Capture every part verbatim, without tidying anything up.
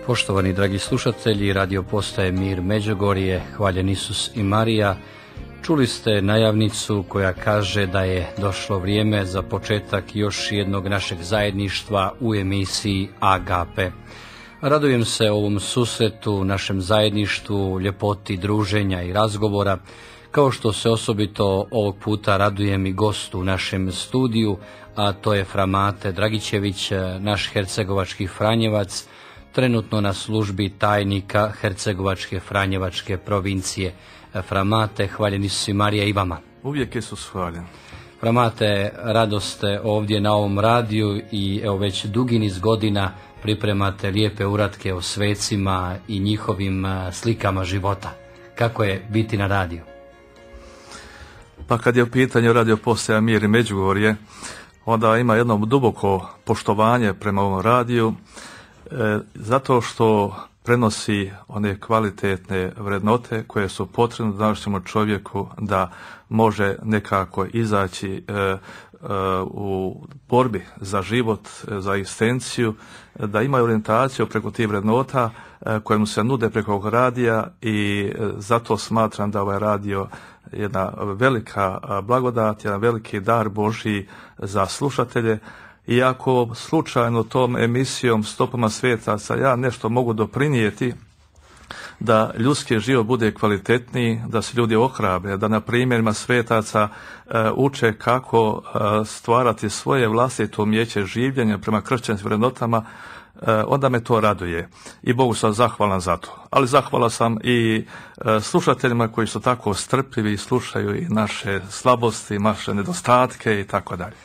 Poštovani dragi slušatelji, radio postaje Mir Međugorje, hvaljen Isus i Marija. Čuli ste najavnicu koja kaže da je došlo vrijeme za početak još jednog našeg zajedništva u emisiji Agape. Radujem se ovom susretu, našem zajedništvu, ljepoti druženja i razgovora, kao što se osobito ovog puta radujem i gostu u našem studiju, a to je Fra Mate Dragićević, naš hercegovački Franjevac, trenutno na službi tajnika Hercegovačke Franjevačke provincije. Fra Mate, hvaljen Isus i Marija i vama. Uvijek Isus hvaljen. Fra Mate, radost ste ovdje na ovom radiju i evo već dugi niz godina pripremate lijepe uratke o svecima i njihovim slikama života. Kako je biti na radiju? Pa kad je u pitanju radio postaja Mir i Međugorje, onda ima jedno duboko poštovanje prema ovom radiju, e, zato što prenosi one kvalitetne vrednote koje su potrebne današnjemu čovjeku da može nekako izaći e, e, u borbi za život, za egzistenciju, da ima orijentaciju preko tih vrednota e, koje mu se nude preko ovog radija i e, zato smatram da ovaj radio jedna velika blagodat, jedan veliki dar Božji za slušatelje. I ako slučajno tom emisijom Stopama svetaca ja nešto mogu doprinijeti da ljudski život bude kvalitetniji, da se ljudi ohrabre, da na primjerima svetaca e, uče kako e, stvarati svoje vlastito umijeće življenja prema kršćanskim vrednotama, e, onda me to raduje. I Bogu sam zahvalan za to. Ali zahvalan sam i e, slušateljima koji su tako strpljivi i slušaju i naše slabosti, naše nedostatke i tako dalje.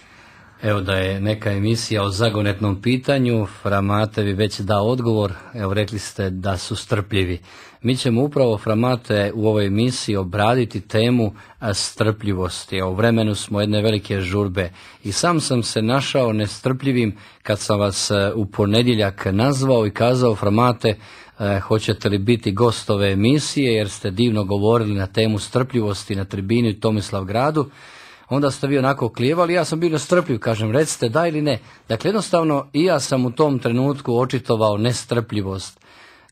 Evo da je neka emisija o zagonetnom pitanju, Fra Mate vi već dao odgovor, evo rekli ste da su strpljivi. Mi ćemo upravo, Fra Mate, u ovoj emisiji obraditi temu strpljivosti. U vremenu smo jedne velike žurbe i sam sam se našao nestrpljivim kad sam vas u ponedjeljak nazvao i kazao, Fra Mate, hoćete li biti gost ove emisije jer ste divno govorili na temu strpljivosti na tribini u Tomislavgradu. Onda ste vi onako klijevali, ja sam bio nestrpljiv, kažem, recite da ili ne. Dakle, jednostavno i ja sam u tom trenutku očitovao nestrpljivost.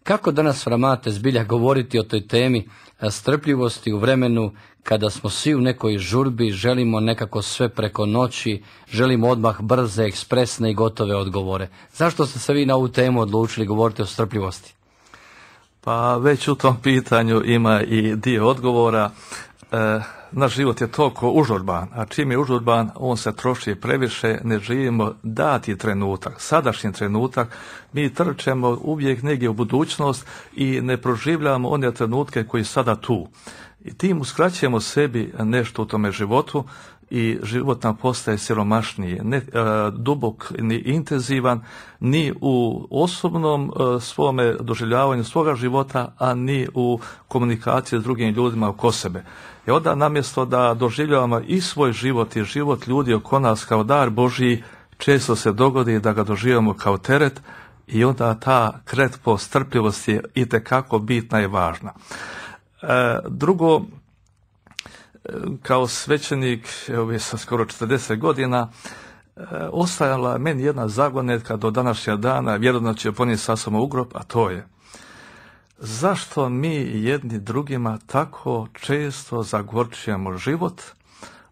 Kako danas, Fra Mate, zbilja govoriti o toj temi strpljivosti u vremenu kada smo svi u nekoj žurbi, želimo nekako sve preko noći, želimo odmah brze, ekspresne i gotove odgovore. Zašto ste se vi na ovu temu odlučili govoriti o strpljivosti? Pa već u tom pitanju ima i dio odgovora. E, naš život je toliko užurban, a čim je užurban, on se troši previše, ne živimo dati trenutak, sadašnji trenutak, mi trčemo uvijek negdje u budućnost i ne proživljamo one trenutke koji sada tu. I tim uskraćujemo sebi nešto u tome životu i život nam postaje siromašniji, ne e, dubok ni intenzivan, ni u osobnom e, svome doživljavanju svoga života, a ni u komunikaciji s drugim ljudima oko sebe. I onda namjesto da doživljavamo i svoj život i život ljudi oko nas kao dar Božji, često se dogodi da ga doživljamo kao teret i onda ta kretpo strpljivosti je itekako bitna i važna. E, drugo, kao svećenik, evo sam skoro četrdeset godina, e, ostajala je meni jedna zagonetka do današnjeg dana, vjerojatno će ponijeti sa sobom u grob, a to je: zašto mi jedni drugima tako često zagorčujemo život,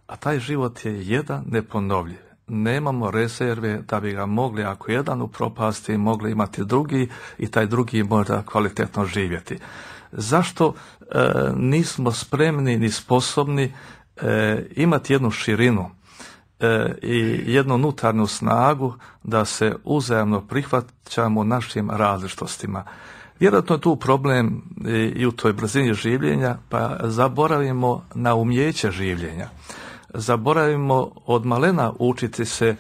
a taj život je jedan neponovljiv. Nemamo rezerve da bi ga mogli, ako jedan upropasti, mogli imati drugi i taj drugi možda kvalitetno živjeti. Zašto e, nismo spremni ni sposobni e, imati jednu širinu e, i jednu unutarnju snagu da se uzajamno prihvaćamo našim različitostima? Vjerojatno je tu problem i u toj brzini življenja, pa zaboravimo na umijeće življenja. Zaboravimo od malena učiti se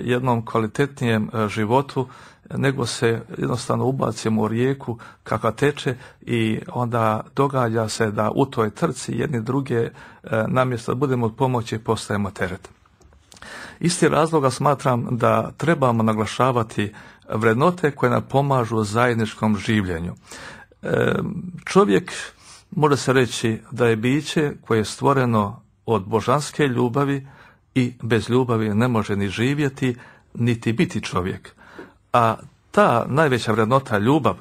jednom kvalitetnijem životu, nego se jednostavno ubacimo u rijeku kakva teče i onda događa se da u toj trci jedni druge namjesto da budemo od pomoći postajemo teret. Isti razloga smatram da trebamo naglašavati vrednote koje nam pomažu u zajedničkom življenju. E, čovjek može se reći da je biće koje je stvoreno od božanske ljubavi i bez ljubavi ne može ni živjeti, niti biti čovjek. A ta najveća vrednota, ljubav,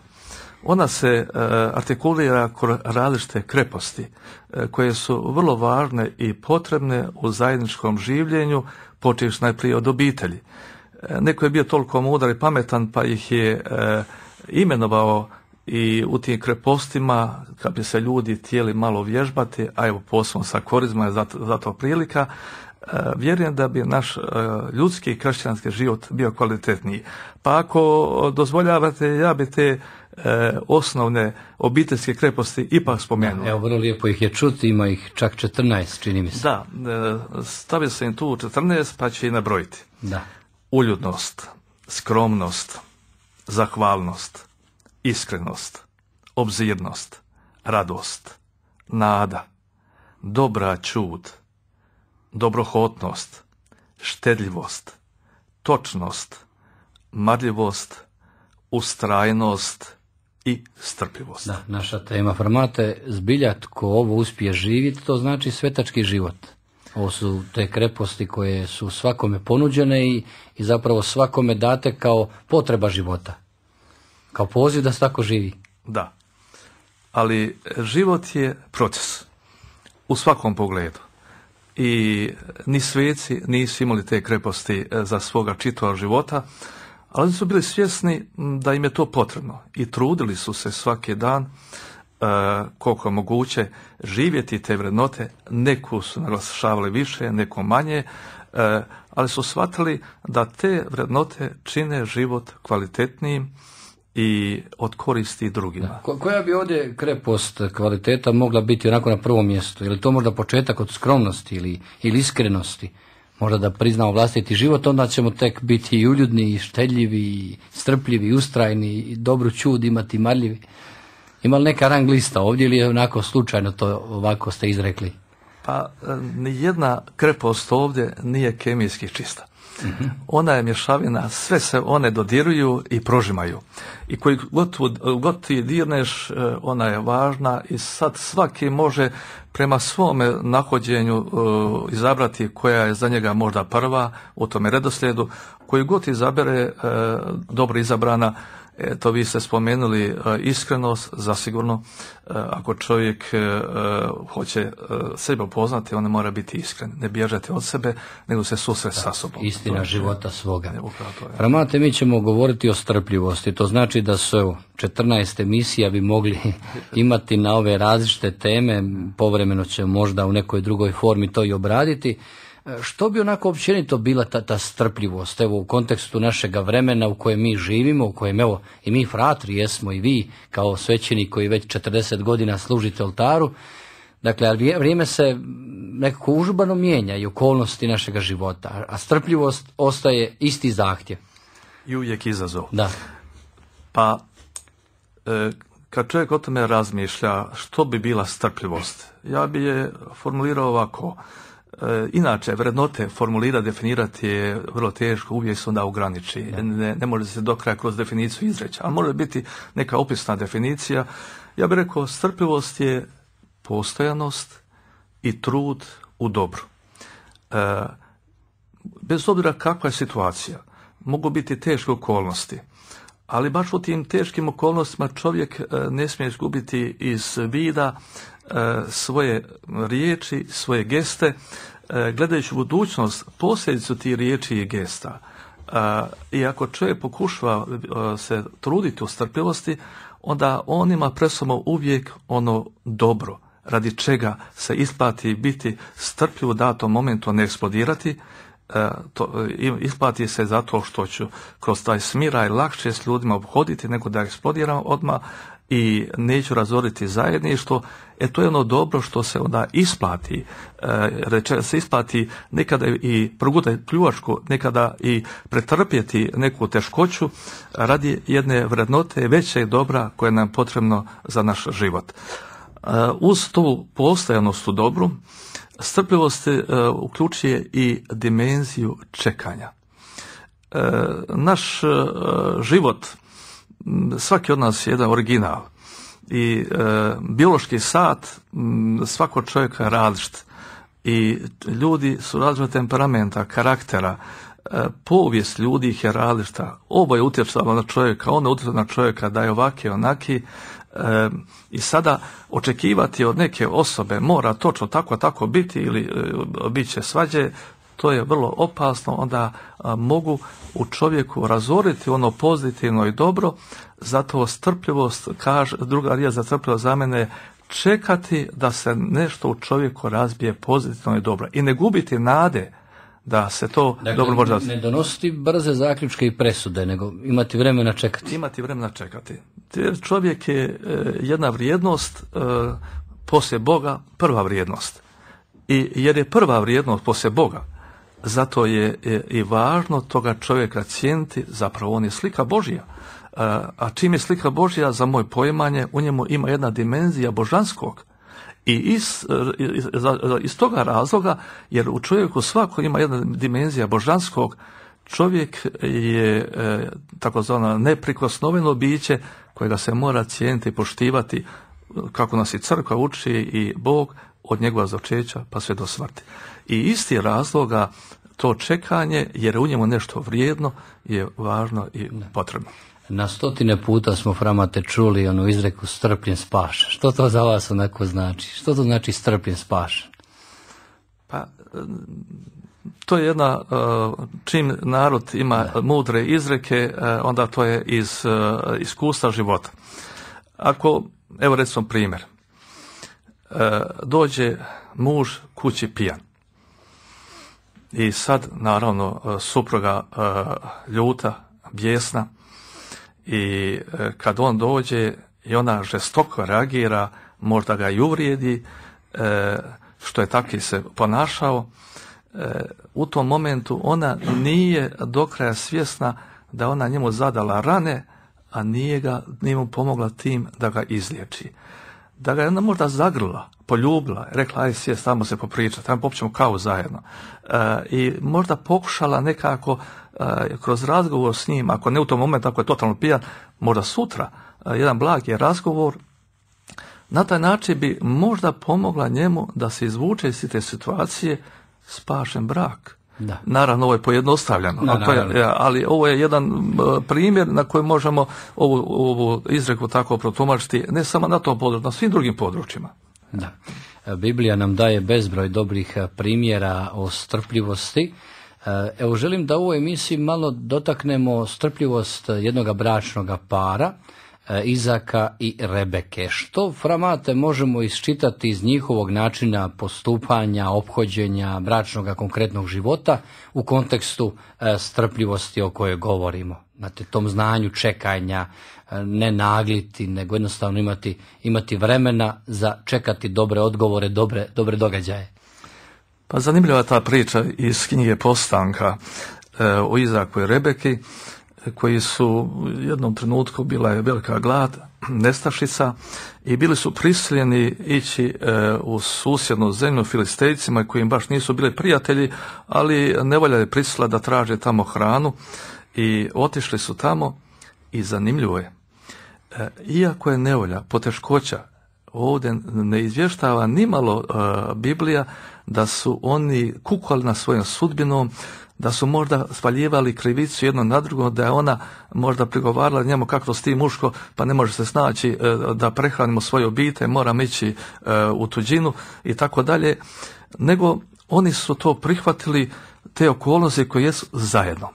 ona se uh, artikulira kroz različite kreposti uh, koje su vrlo važne i potrebne u zajedničkom življenju, počevši najprije od obitelji. Uh, neko je bio toliko mudar i pametan pa ih je uh, imenovao i u tim krepostima, kad bi se ljudi htjeli malo vježbati, a evo posebno sa korizma je zato, zato prilika, uh, vjerujem da bi naš uh, ljudski i kršćanski život bio kvalitetniji. Pa ako dozvoljavate, ja bi te E, osnovne obiteljske kreposti ipak spomenuo. Evo, vrlo lijepo ih je čuti, ima ih čak četrnaest, čini mi se. Da, e, stavio sam im tu četrnaest, pa će i nabrojiti. Da. Uljudnost, skromnost, zahvalnost, iskrenost, obzirnost, radost, nada, dobra ćud, dobrohotnost, štedljivost, točnost, marljivost, ustrajnost i strpljivost. Da, naša tema formate, zbilja tko ovo uspije živjeti, to znači svetački život. Ovo su te kreposti koje su svakome ponuđene i, i zapravo svakome date kao potreba života. Kao poziv da se tako živi. Da, ali život je proces u svakom pogledu. I ni sveci nisu imali te kreposti za svoga čitavog života, ali su bili svjesni da im je to potrebno i trudili su se svaki dan uh, koliko je moguće živjeti te vrednote. Neku su naglašavali više, neku manje, uh, ali su shvatili da te vrednote čine život kvalitetnijim i od koristi drugima. Da. Ko, koja bi ovdje krepost kvaliteta mogla biti onako na prvom mjestu? Je li to možda početak od skromnosti ili, ili iskrenosti? Možda da priznamo vlastiti život, onda ćemo tek biti i uljudni, i štedljivi, i strpljivi, i ustrajni, i dobru ćud imati, marljivi. Ima li neka rang lista ovdje ili je onako slučajno to ovako ste izrekli? Pa nijedna krepost ovdje nije kemijski čista. Mm-hmm. Ona je mješavina, sve se one dodiruju i prožimaju. I koji god, god ti dirneš, ona je važna i sad svaki može prema svome nahođenju uh, izabrati koja je za njega možda prva u tome redoslijedu. Koji god izabere uh, dobro izabrana, eto vi ste spomenuli uh, iskrenost, zasigurno uh, ako čovjek uh, hoće uh, sebe upoznati, on ne mora biti iskren, ne bježati od sebe, nego se susret sa sobom. Istina života svoga. Framate, mi ćemo govoriti o strpljivosti, to znači da su četrnaest emisija bi mogli imati na ove različite teme, povremeno će možda u nekoj drugoj formi to i obraditi. Što bi onako općenito bila ta, ta strpljivost, evo u kontekstu našega vremena u kojem mi živimo, u kojem evo i mi fratri jesmo i vi kao svećeni koji već četrdeset godina služite oltaru, dakle ali vrijeme se nekako užbano mijenja i okolnosti našega života, a strpljivost ostaje isti zahtjev. I uvijek izazov. Da. Pa e, kad čovjek o tome razmišlja što bi bila strpljivost, ja bi je formulirao ovako. Inače, vrednote formulirati, definirati je vrlo teško, uvijek se onda ograniči. Ne, ne može se do kraja kroz definiciju izreći, ali može biti neka opisna definicija. Ja bih rekao, strpljivost je postojanost i trud u dobru. E, bez obzira kakva je situacija, mogu biti teške okolnosti, ali baš u tim teškim okolnostima čovjek ne smije izgubiti iz vida svoje riječi, svoje geste, gledajući budućnost, posljedicu tih riječi i gesta. I ako čovjek pokušava se truditi u strpljivosti, onda on ima pred sobom uvijek ono dobro, radi čega se isplati biti strpljiv u datom momentu, ne eksplodirati. To, isplati se zato što ću kroz taj smiraj lakše s ljudima obhoditi nego da eksplodiram odmah i neću razoriti zajedništvo. E to je ono dobro što se onda isplati. E, reče se isplati nekada i progutati pljuvačku, nekada i pretrpjeti neku teškoću radi jedne vrednote većeg dobra koje nam je potrebno za naš život. E, uz tu postojanost u dobru, strpljivost uh, uključuje i dimenziju čekanja. Uh, naš uh, život, svaki od nas je jedan original i uh, biološki sat um, svakog čovjeka je različit i ljudi su različitog temperamenta, karaktera, povijest ljudi ih je različita. Ovo je utjecalo na čovjeka, ono je utjecalo na čovjeka da je ovaki, onaki. E, I sada očekivati od neke osobe mora točno tako tako biti ili e, bit će svađe, to je vrlo opasno. Onda a, mogu u čovjeku razoriti ono pozitivno i dobro. Zato strpljivost, kaže, druga riječ za strpljivost za mene, čekati da se nešto u čovjeku razbije pozitivno i dobro i ne gubiti nade da se to dakle, dobro može... Ne donositi brze zaključke i presude, nego imati vremena čekati. Imati vremena čekati. Čovjek je e, jedna vrijednost e, poslije Boga, prva vrijednost. I jer je prva vrijednost poslije Boga, zato je e, i važno toga čovjeka cijeniti, zapravo on je slika Božja. A čim je slika Božja, za moje poimanje, u njemu ima jedna dimenzija božanskog. I iz, iz, iz toga razloga, jer u čovjeku svako ima jedna dimenzija božanskog, čovjek je e, takozvano neprikosnoveno biće kojega se mora cijeniti i poštivati, kako nas i crkva uči i Bog, od njegova začeća pa sve do smrti. I isti razloga to čekanje, jer u njemu nešto vrijedno, je važno i potrebno. Na stotine puta smo, Framate, čuli onu izreku strpljen spašen. Što to za vas onako znači? Što to znači strpljen spašen? Pa, to je jedna, čim narod ima da. mudre izreke, onda to je iz iskustva života. Ako, evo recimo primjer, dođe muž kući pijan. I sad, naravno, supruga ljuta, bijesna, i kad on dođe i ona žestoko reagira, možda ga i uvrijedi, što je taki se ponašao, u tom momentu ona nije do kraja svjesna da ona njemu zadala rane, a nije, ga, nije mu pomogla tim da ga izliječi. Da ga je ona možda zagrla, poljubila, rekla aj sjest, tamo se popričati, tamo popćemo kavu zajedno. I možda pokušala nekako kroz razgovor s njim, ako ne u tom momentu, ako je totalno pijan, možda sutra, jedan blagi razgovor, na taj način bi možda pomogla njemu da se izvuče iz te situacije, spašen brak. Da. Naravno, ovo je pojednostavljeno, da, ako je, ali ovo je jedan primjer na kojem možemo ovu, ovu izreku tako protumačiti, ne samo na tom području, na svim drugim područjima. Da. Biblija nam daje bezbroj dobrih primjera o strpljivosti. Evo, želim da u ovoj emisiji malo dotaknemo strpljivost jednoga bračnoga para, Izaka i Rebeke. Što, Framate, možemo isčitati iz njihovog načina postupanja, ophođenja, bračnog konkretnog života u kontekstu strpljivosti o kojoj govorimo? Znate, tom znanju čekanja, ne nagliti, nego jednostavno imati, imati vremena za čekati dobre odgovore, dobre, dobre događaje. Pa zanimljiva ta priča iz knjige Postanka e, o Izaku i Rebeki, koji su u jednom trenutku, bila je velika glad, nestašica, i bili su prisiljeni ići e, u susjednu zemlju Filistejcima, koji im baš nisu bili prijatelji, ali nevolja je prisilila da traže tamo hranu, i otišli su tamo. I zanimljivo je, e, iako je nevolja, poteškoća, ovdje ne izvještava nimalo e, Biblija da su oni kukali na svojom sudbinom, da su možda spaljivali krivicu jedno na drugo, da je ona možda prigovarala njemu kako s tim muško, pa ne može se snaći da prehranimo svoje obitelj, moram ići u tuđinu i tako dalje, nego oni su to prihvatili, te okolnosti koje jesu zajedno.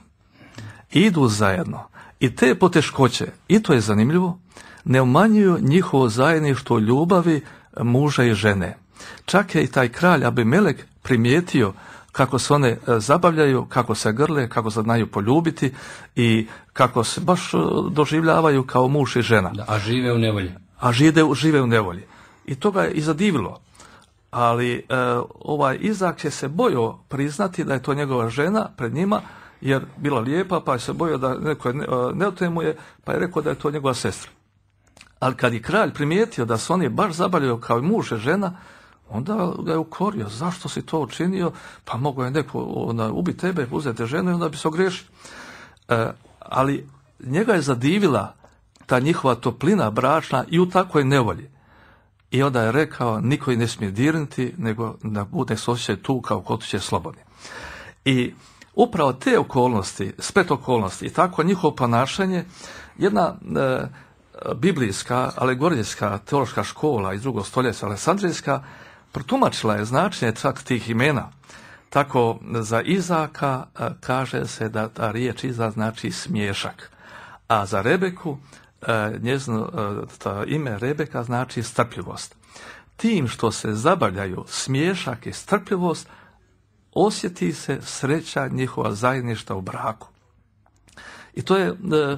Idu zajedno. I te poteškoće, i to je zanimljivo, ne umanjuju njihovo zajedništvo ljubavi muža i žene. Čak je i taj kralj Abimelek primijetio kako se one zabavljaju, kako se grle, kako se znaju poljubiti i kako se baš doživljavaju kao muž i žena. Da, a žive u nevolji. A žive, žive u nevolji. I to ga je i zadivilo. Ali e, ovaj Izak je se bojao priznati da je to njegova žena pred njima, jer bila lijepa, pa je se bojao da neko ne, ne otemuje, pa je rekao da je to njegova sestra. Ali kad je kralj primijetio da se oni baš zabavljaju kao muž i žena, onda ga je ukorio. Zašto si to učinio? Pa mogo je neko onda ubiti tebe, uzeti ženu i onda bi se ogriješio. E, ali njega je zadivila ta njihova toplina bračna i u takvoj nevolji. I onda je rekao, niko ih ne smije dirnuti, nego da bude se osjećaj tu kao kod kuće slobodni. I upravo te okolnosti, splet okolnosti i tako njihovo ponašanje, jedna e, biblijska, alegorijska, teološka škola iz drugog stoljeća, Aleksandrijska, protumačila je značenje čak tih imena. Tako za Izaka e, kaže se da ta riječ Iza znači smiješak, a za Rebeku e, njezino e, ta ime Rebeka znači strpljivost. Tim što se zabavljaju smiješak i strpljivost, osjeti se sreća njihova zajedništva u braku. I to je e, e,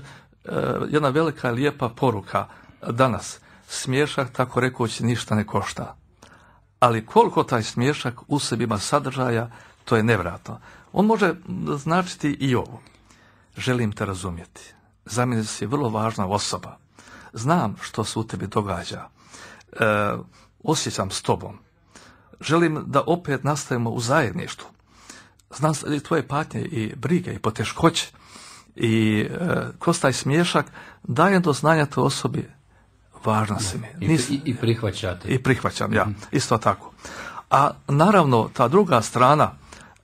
jedna velika lijepa poruka danas. Smiješak, tako rekući, ništa ne košta. Ali koliko taj smiješak u sebi ima sadržaja, to je nevjerojatno. On može značiti i ovo. Želim te razumjeti. Za mene si vrlo važna osoba. Znam što se u tebi događa. E, osjećam s tobom. Želim da opet nastavimo u zajedništvu. Znam i tvoje patnje i brige i poteškoće. I e, kroz taj smiješak dajem do znanja toj osobi važna si mi. I, i, i prihvaćate. I prihvaćam, ja. Mm. Isto tako. A naravno, ta druga strana,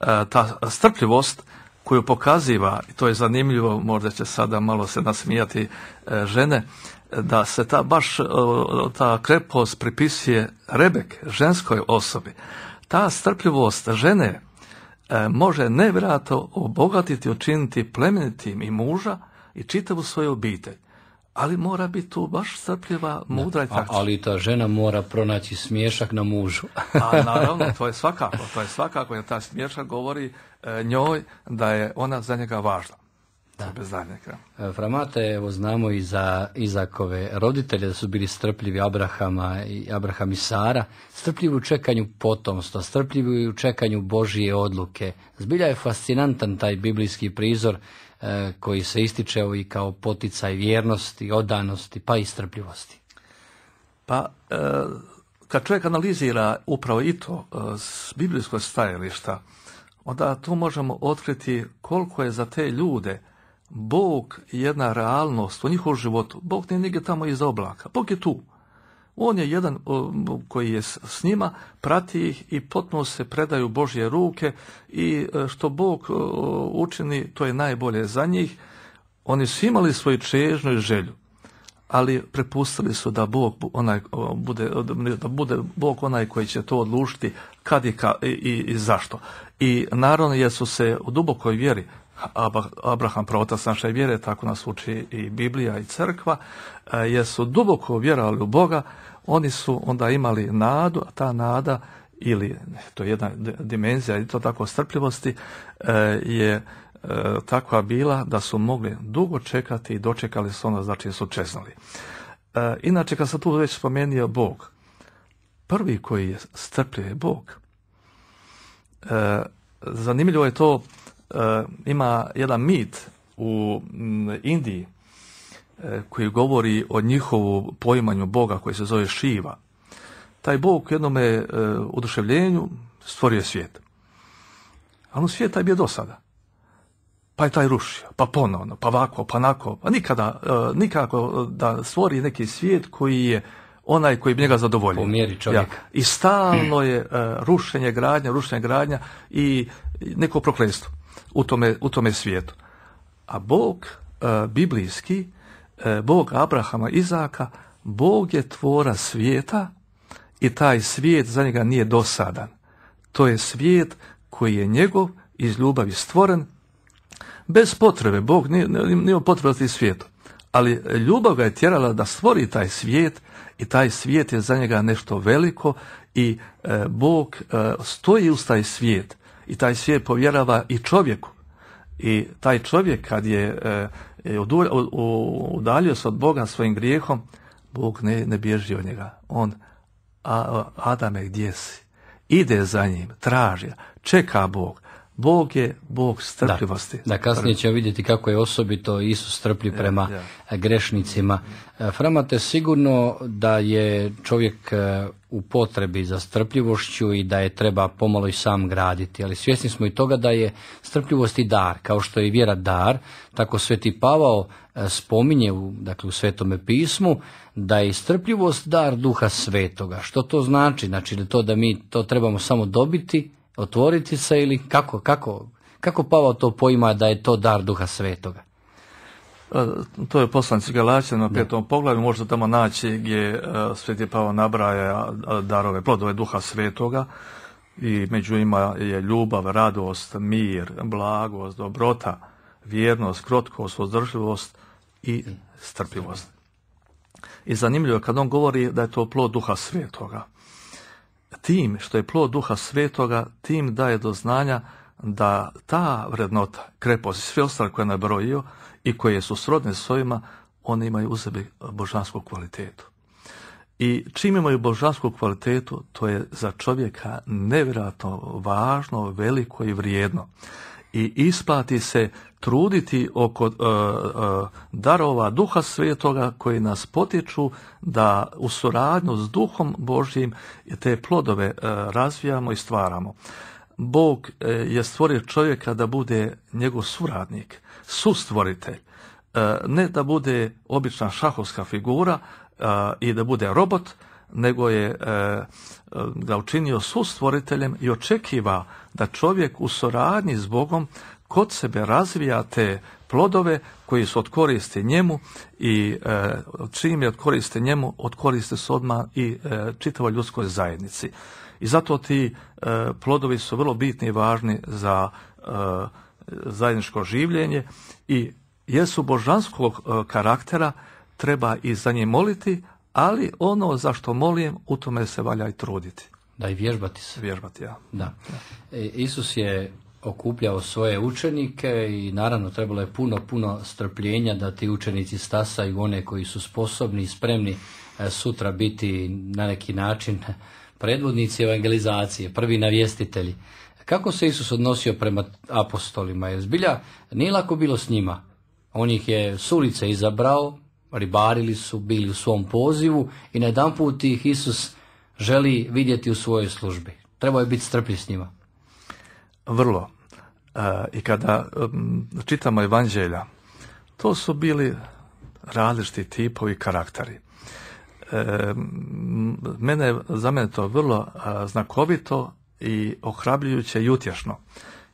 e, ta strpljivost koju pokaziva, i to je zanimljivo, možda će sada malo se nasmijati e, žene, da se ta baš ta krepost pripisuje Rebek, ženskoj osobi. Ta strpljivost žene e, može nevjerojatno obogatiti, učiniti plemenitim i muža i čitavu svoju obitelj. Ali mora biti tu baš strpljiva, mudra i taktična. Ali ta žena mora pronaći smiješak na mužu. A naravno, to je svakako, to je svakako, jer ta smiješak govori e, njoj da je ona za njega važna. Da. Bez daljnjega. Framate, evo znamo i za Izakove roditelje da su bili strpljivi, Abrahama i Abraham i Sara, strpljivi u čekanju potomstva, strpljivi u čekanju Božije odluke. Zbilja je fascinantan taj biblijski prizor e, koji se ističe evo i kao poticaj vjernosti, odanosti, pa i strpljivosti. Pa, e, kad čovjek analizira upravo i to e, s biblijskog stajališta, onda tu možemo otkriti koliko je za te ljude Bog jedna realnost u njihovom životu. Bog nije nigdje tamo iza oblaka. Bog je tu. On je jedan koji je s njima, prati ih i potpuno se predaju Božje ruke i što Bog učini, to je najbolje za njih. Oni su imali svoju čežnju i želju, ali prepustili su da Bog onaj bude, da bude Bog onaj koji će to odlučiti kad i, ka, i, i zašto. I naravno jer su se u dubokoj vjeri, Abraham praotac naše vjere, tako nas uči i Biblija i crkva, jer su duboko vjerovali u Boga, oni su onda imali nadu, a ta nada, ili to je jedna dimenzija i to tako strpljivosti, je takva bila da su mogli dugo čekati i dočekali su ono, znači su čeznali. Inače, kad sam tu već spomenuo Bog, prvi koji je strpljiv je Bog. Zanimljivo je to, ima jedan mit u Indiji koji govori o njihovu poimanju Boga koji se zove Šiva. Taj Bog u jednom oduševljenju stvorio svijet. Ali u svijet taj bio do sada. Pa je taj rušio, pa ponovno, pa ovako, pa onako, pa nikada, nikako da stvori neki svijet koji je onaj koji bi njega zadovoljio. Po mjeri čovjeka. Ja. I stalno je uh, rušenje, gradnja, rušenje, gradnja i neko prokletstvo u tome, u tome svijetu. A Bog uh, biblijski, uh, Bog Abrahama, Izaka, Bog je tvora svijeta i taj svijet za njega nije dosadan. To je svijet koji je njegov, iz ljubavi stvoren, bez potrebe. Bog nije, nije potrebe svijetu. Ali ljubav ga je tjerala da stvori taj svijet i taj svijet je za njega nešto veliko i e, Bog e, stoji uz taj svijet i taj svijet povjerava i čovjeku. I taj čovjek kad je e, udaljio se od Boga svojim grijehom, Bog ne, ne bježi od njega. On, a, Adame, gdje si? Ide za njim, traži, čeka Bog. Bog je Bog strpljivosti. Da, da kasnije ćemo vidjeti kako je osobito Isus strpljiv prema ja, ja. grešnicima. Framate, sigurno da je čovjek u potrebi za strpljivošću i da je treba pomalo i sam graditi, ali svjesni smo i toga da je strpljivost i dar, kao što je i vjera dar, tako Sveti Pavao spominje u, dakle, u Svetome pismu da je strpljivost dar Duha Svetoga. Što to znači? Znači da to da mi to trebamo samo dobiti, otvoriti se ili kako, kako, Kako Pavao to poima da je to dar Duha Svetoga? To je poslanici Galaćanima, petom poglavlju, možete tamo naći gdje Sveti Pavao nabraja darove, plodove Duha Svetoga, i među njima je ljubav, radost, mir, blagost, dobrota, vjernost, krotkost, uzdržljivost i strpljivost. I zanimljivo je kad on govori da je to plod Duha Svetoga. Tim što je plod Duha Svetoga, tim daje do znanja da ta vrednota, krepost i sve ostale koje je nabrojio i koje su srodne s ovima, one imaju u sebi božansku kvalitetu. I čim imaju božansku kvalitetu, to je za čovjeka nevjerojatno važno, veliko i vrijedno. I isplati se truditi oko uh, uh, darova Duha Svetoga koji nas potiču da u suradnju s Duhom Božjim te plodove uh, razvijamo i stvaramo. Bog uh, je stvorio čovjeka da bude njegov suradnik, sustvoritelj, uh, ne da bude obična šahovska figura uh, i da bude robot, nego je uh, ga učinio sustvoriteljem i očekiva da čovjek u suradnji s Bogom kod sebe razvija te plodove koji su od koristi njemu i e, čim je od koristi njemu, od koristi su odmah i e, čitavoj ljudskoj zajednici. I zato ti e, plodovi su vrlo bitni i važni za e, zajedničko življenje i jesu božanskog e, karaktera, treba i za njih moliti, ali ono za što molim, u tome se valja i truditi. Da, i vježbati se. Vježbati, ja. Da. E, Isus je okupljao svoje učenike i naravno trebalo je puno, puno strpljenja da ti učenici stasaju one koji su sposobni i spremni e, sutra biti na neki način predvodnici evangelizacije, prvi navjestitelji. Kako se Isus odnosio prema apostolima? Jer zbilja nije lako bilo s njima. On ih je s ulice izabrao, ribarili su, bili u svom pozivu i na jedan put ih Isus želi vidjeti u svojoj službi. Trebao je biti strpljiv s njima. Vrlo. E, I kada um, čitamo evanđelja, to su bili različiti tipovi karakteri. E, mene, za mene to vrlo a, znakovito i ohrabljujuće i utješno.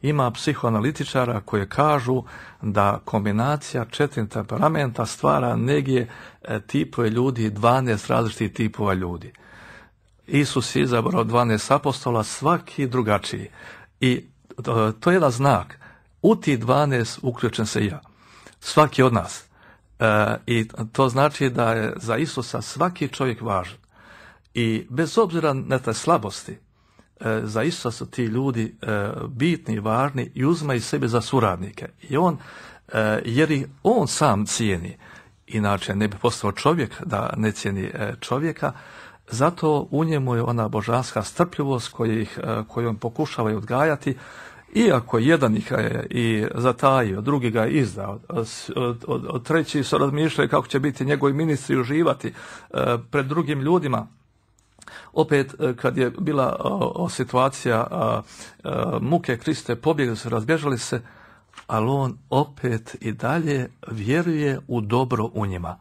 Ima psihoanalitičara koji kažu da kombinacija četiri temperamenta stvara negdje e, tipove ljudi, dvanaest različitih tipova ljudi. Isus je izabrao dvanaest apostola, svaki drugačiji. I to, to je jedan znak. U ti dvanaest uključen se ja. Svaki od nas. E, I to znači da je za Isusa svaki čovjek važan. I bez obzira na te slabosti, e, za Isusa su ti ljudi e, bitni, važni i uzmaju sebe za suradnike. I on, e, jer i on sam cijeni. Inače ne bi postao čovjek da ne cijeni e, čovjeka. Zato u njemu je ona božanska strpljivost koju, ih, koju on pokušava odgajati, iako jedan ih je i zatajio, drugi ga je izdao, od, od, od treći su razmišljali kako će biti njegovi ministri uživati e, pred drugim ljudima. Opet, kad je bila o, o situacija a, a, muke Kriste, pobjegli su, razbježali se, ali on opet i dalje vjeruje u dobro u njima.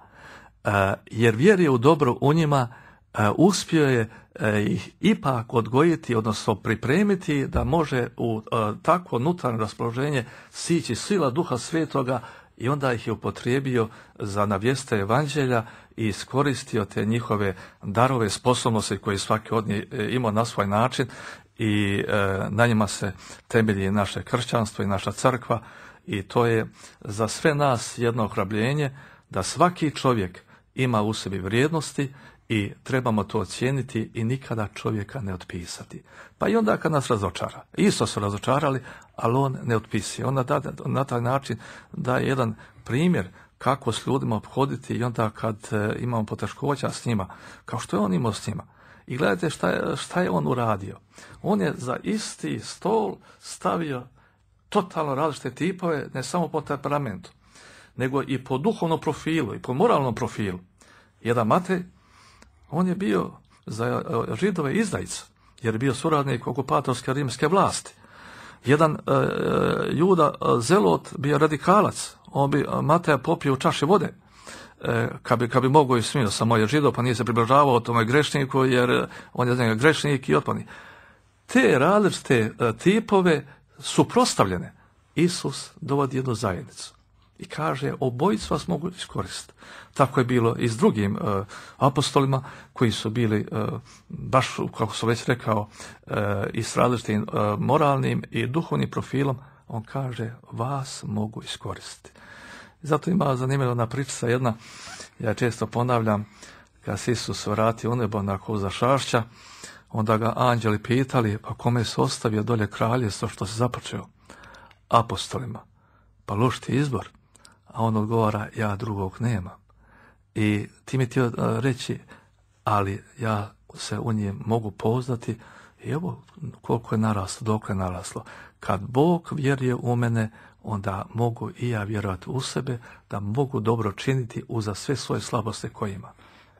A, jer vjeruje u dobro u njima, Uh, uspio je uh, ih ipak odgojiti, odnosno pripremiti da može u uh, takvo unutarnje raspoloženje sići sila Duha Svetoga i onda ih je upotrijebio za navijeste evanđelja i iskoristio te njihove darove, sposobnosti koje svaki od njih imao na svoj način i uh, na njima se temelji naše kršćanstvo i naša crkva i to je za sve nas jedno ohrabljenje da svaki čovjek ima u sebi vrijednosti i trebamo to ocijeniti i nikada čovjeka ne otpisati. Pa i onda kad nas razočara. Isto su razočarali, ali on ne otpisuje. On da, na taj način daje jedan primjer kako s ljudima obhoditi i onda kad e, imamo poteškoća s njima, kao što je on imao s njima. I gledajte šta je, šta je on uradio. On je za isti stol stavio totalno različite tipove, ne samo po temperamentu, nego i po duhovnom profilu i po moralnom profilu. Jedan Matej, on je bio za Židove izdajica, jer je bio suradnik okupatorske rimske vlasti. Jedan e, Juda Zelot bio radikalac, on bi Mateja popio u čaši vode, e, kad bi, kad bi mogao i smio, samo je Židov, pa nije se približavao tome grešniku, jer on je za njega grešnik i otpadni. Te različite e, tipove suprotstavljene, Isus dovodi jednu zajednicu i kaže, obojicu vas mogu iskoristiti. Tako je bilo i s drugim uh, apostolima koji su bili uh, baš, kako sam već rekao, uh, i s različitim uh, moralnim i duhovnim profilom. On kaže, vas mogu iskoristiti. Zato ima zanimljiva priča jedna, ja često ponavljam, kad se Isus vratio u nebo nakon zašašća, onda ga anđeli pitali, pa kome se ostavio dolje kraljevstvo što se započeo? Apostolima. Pa loš ti izbor. A on odgovara, ja drugog nemam. I ti mi htio reći, ali ja se u nje mogu pouzdati i evo koliko je naraslo, dok je naraslo. Kad Bog vjeruje u mene, onda mogu i ja vjerovati u sebe, da mogu dobro činiti uza sve svoje slabosti koje ima.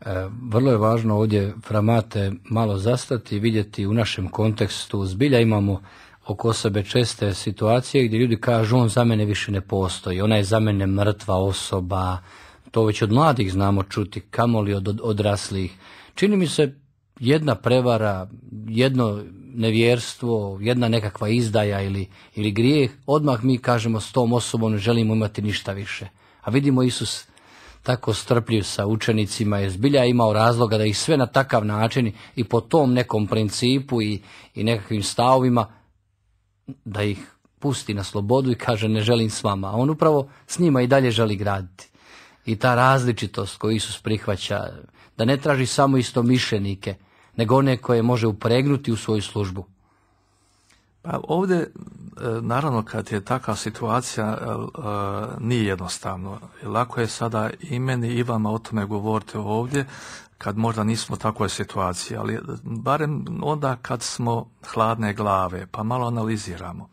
E, vrlo je važno ovdje, Framate, malo zastati i vidjeti u našem kontekstu. Zbilja imamo oko sebe česte situacije gdje ljudi kažu, on za mene više ne postoji, ona je za mene mrtva osoba. To već od mladih znamo čuti, kamoli od odraslih. Čini mi se jedna prevara, jedno nevjerstvo, jedna nekakva izdaja ili, ili grijeh, odmah mi kažemo s tom osobom ne želimo imati ništa više. A vidimo Isus tako strpljiv sa učenicima je zbilja imao razloga da ih sve na takav način i po tom nekom principu i, i nekakvim stavovima da ih pusti na slobodu i kaže ne želim s vama. A on upravo s njima i dalje želi graditi. I ta različitost koju Isus prihvaća, da ne traži samo istomišljenike, nego one koje može upregnuti u svoju službu. Pa ovdje, naravno, kad je takva situacija, nije jednostavno. Lako je sada i meni i vama o tome govoriti ovdje, kad možda nismo u takvoj situaciji, ali barem onda kad smo hladne glave, pa malo analiziramo.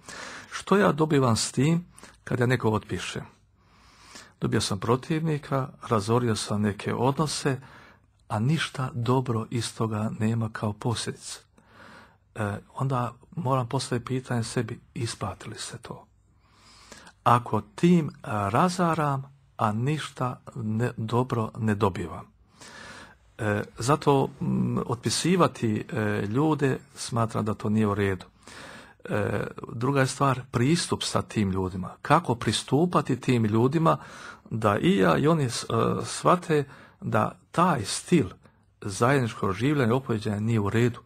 Što ja dobivam s tim kad ja neko otpišem? Dobio sam protivnika, razorio sam neke odnose, a ništa dobro iz toga nema kao posljedica. E, onda moram postaviti pitanje sebi, isplati li se to? Ako tim razaram, a ništa ne, dobro ne dobivam. E, zato m, otpisivati e, ljude smatram da to nije u redu. E, druga je stvar pristup sa tim ljudima. Kako pristupati tim ljudima da i ja i oni e, shvate da taj stil zajedničkog življenja i opođenja nije u redu.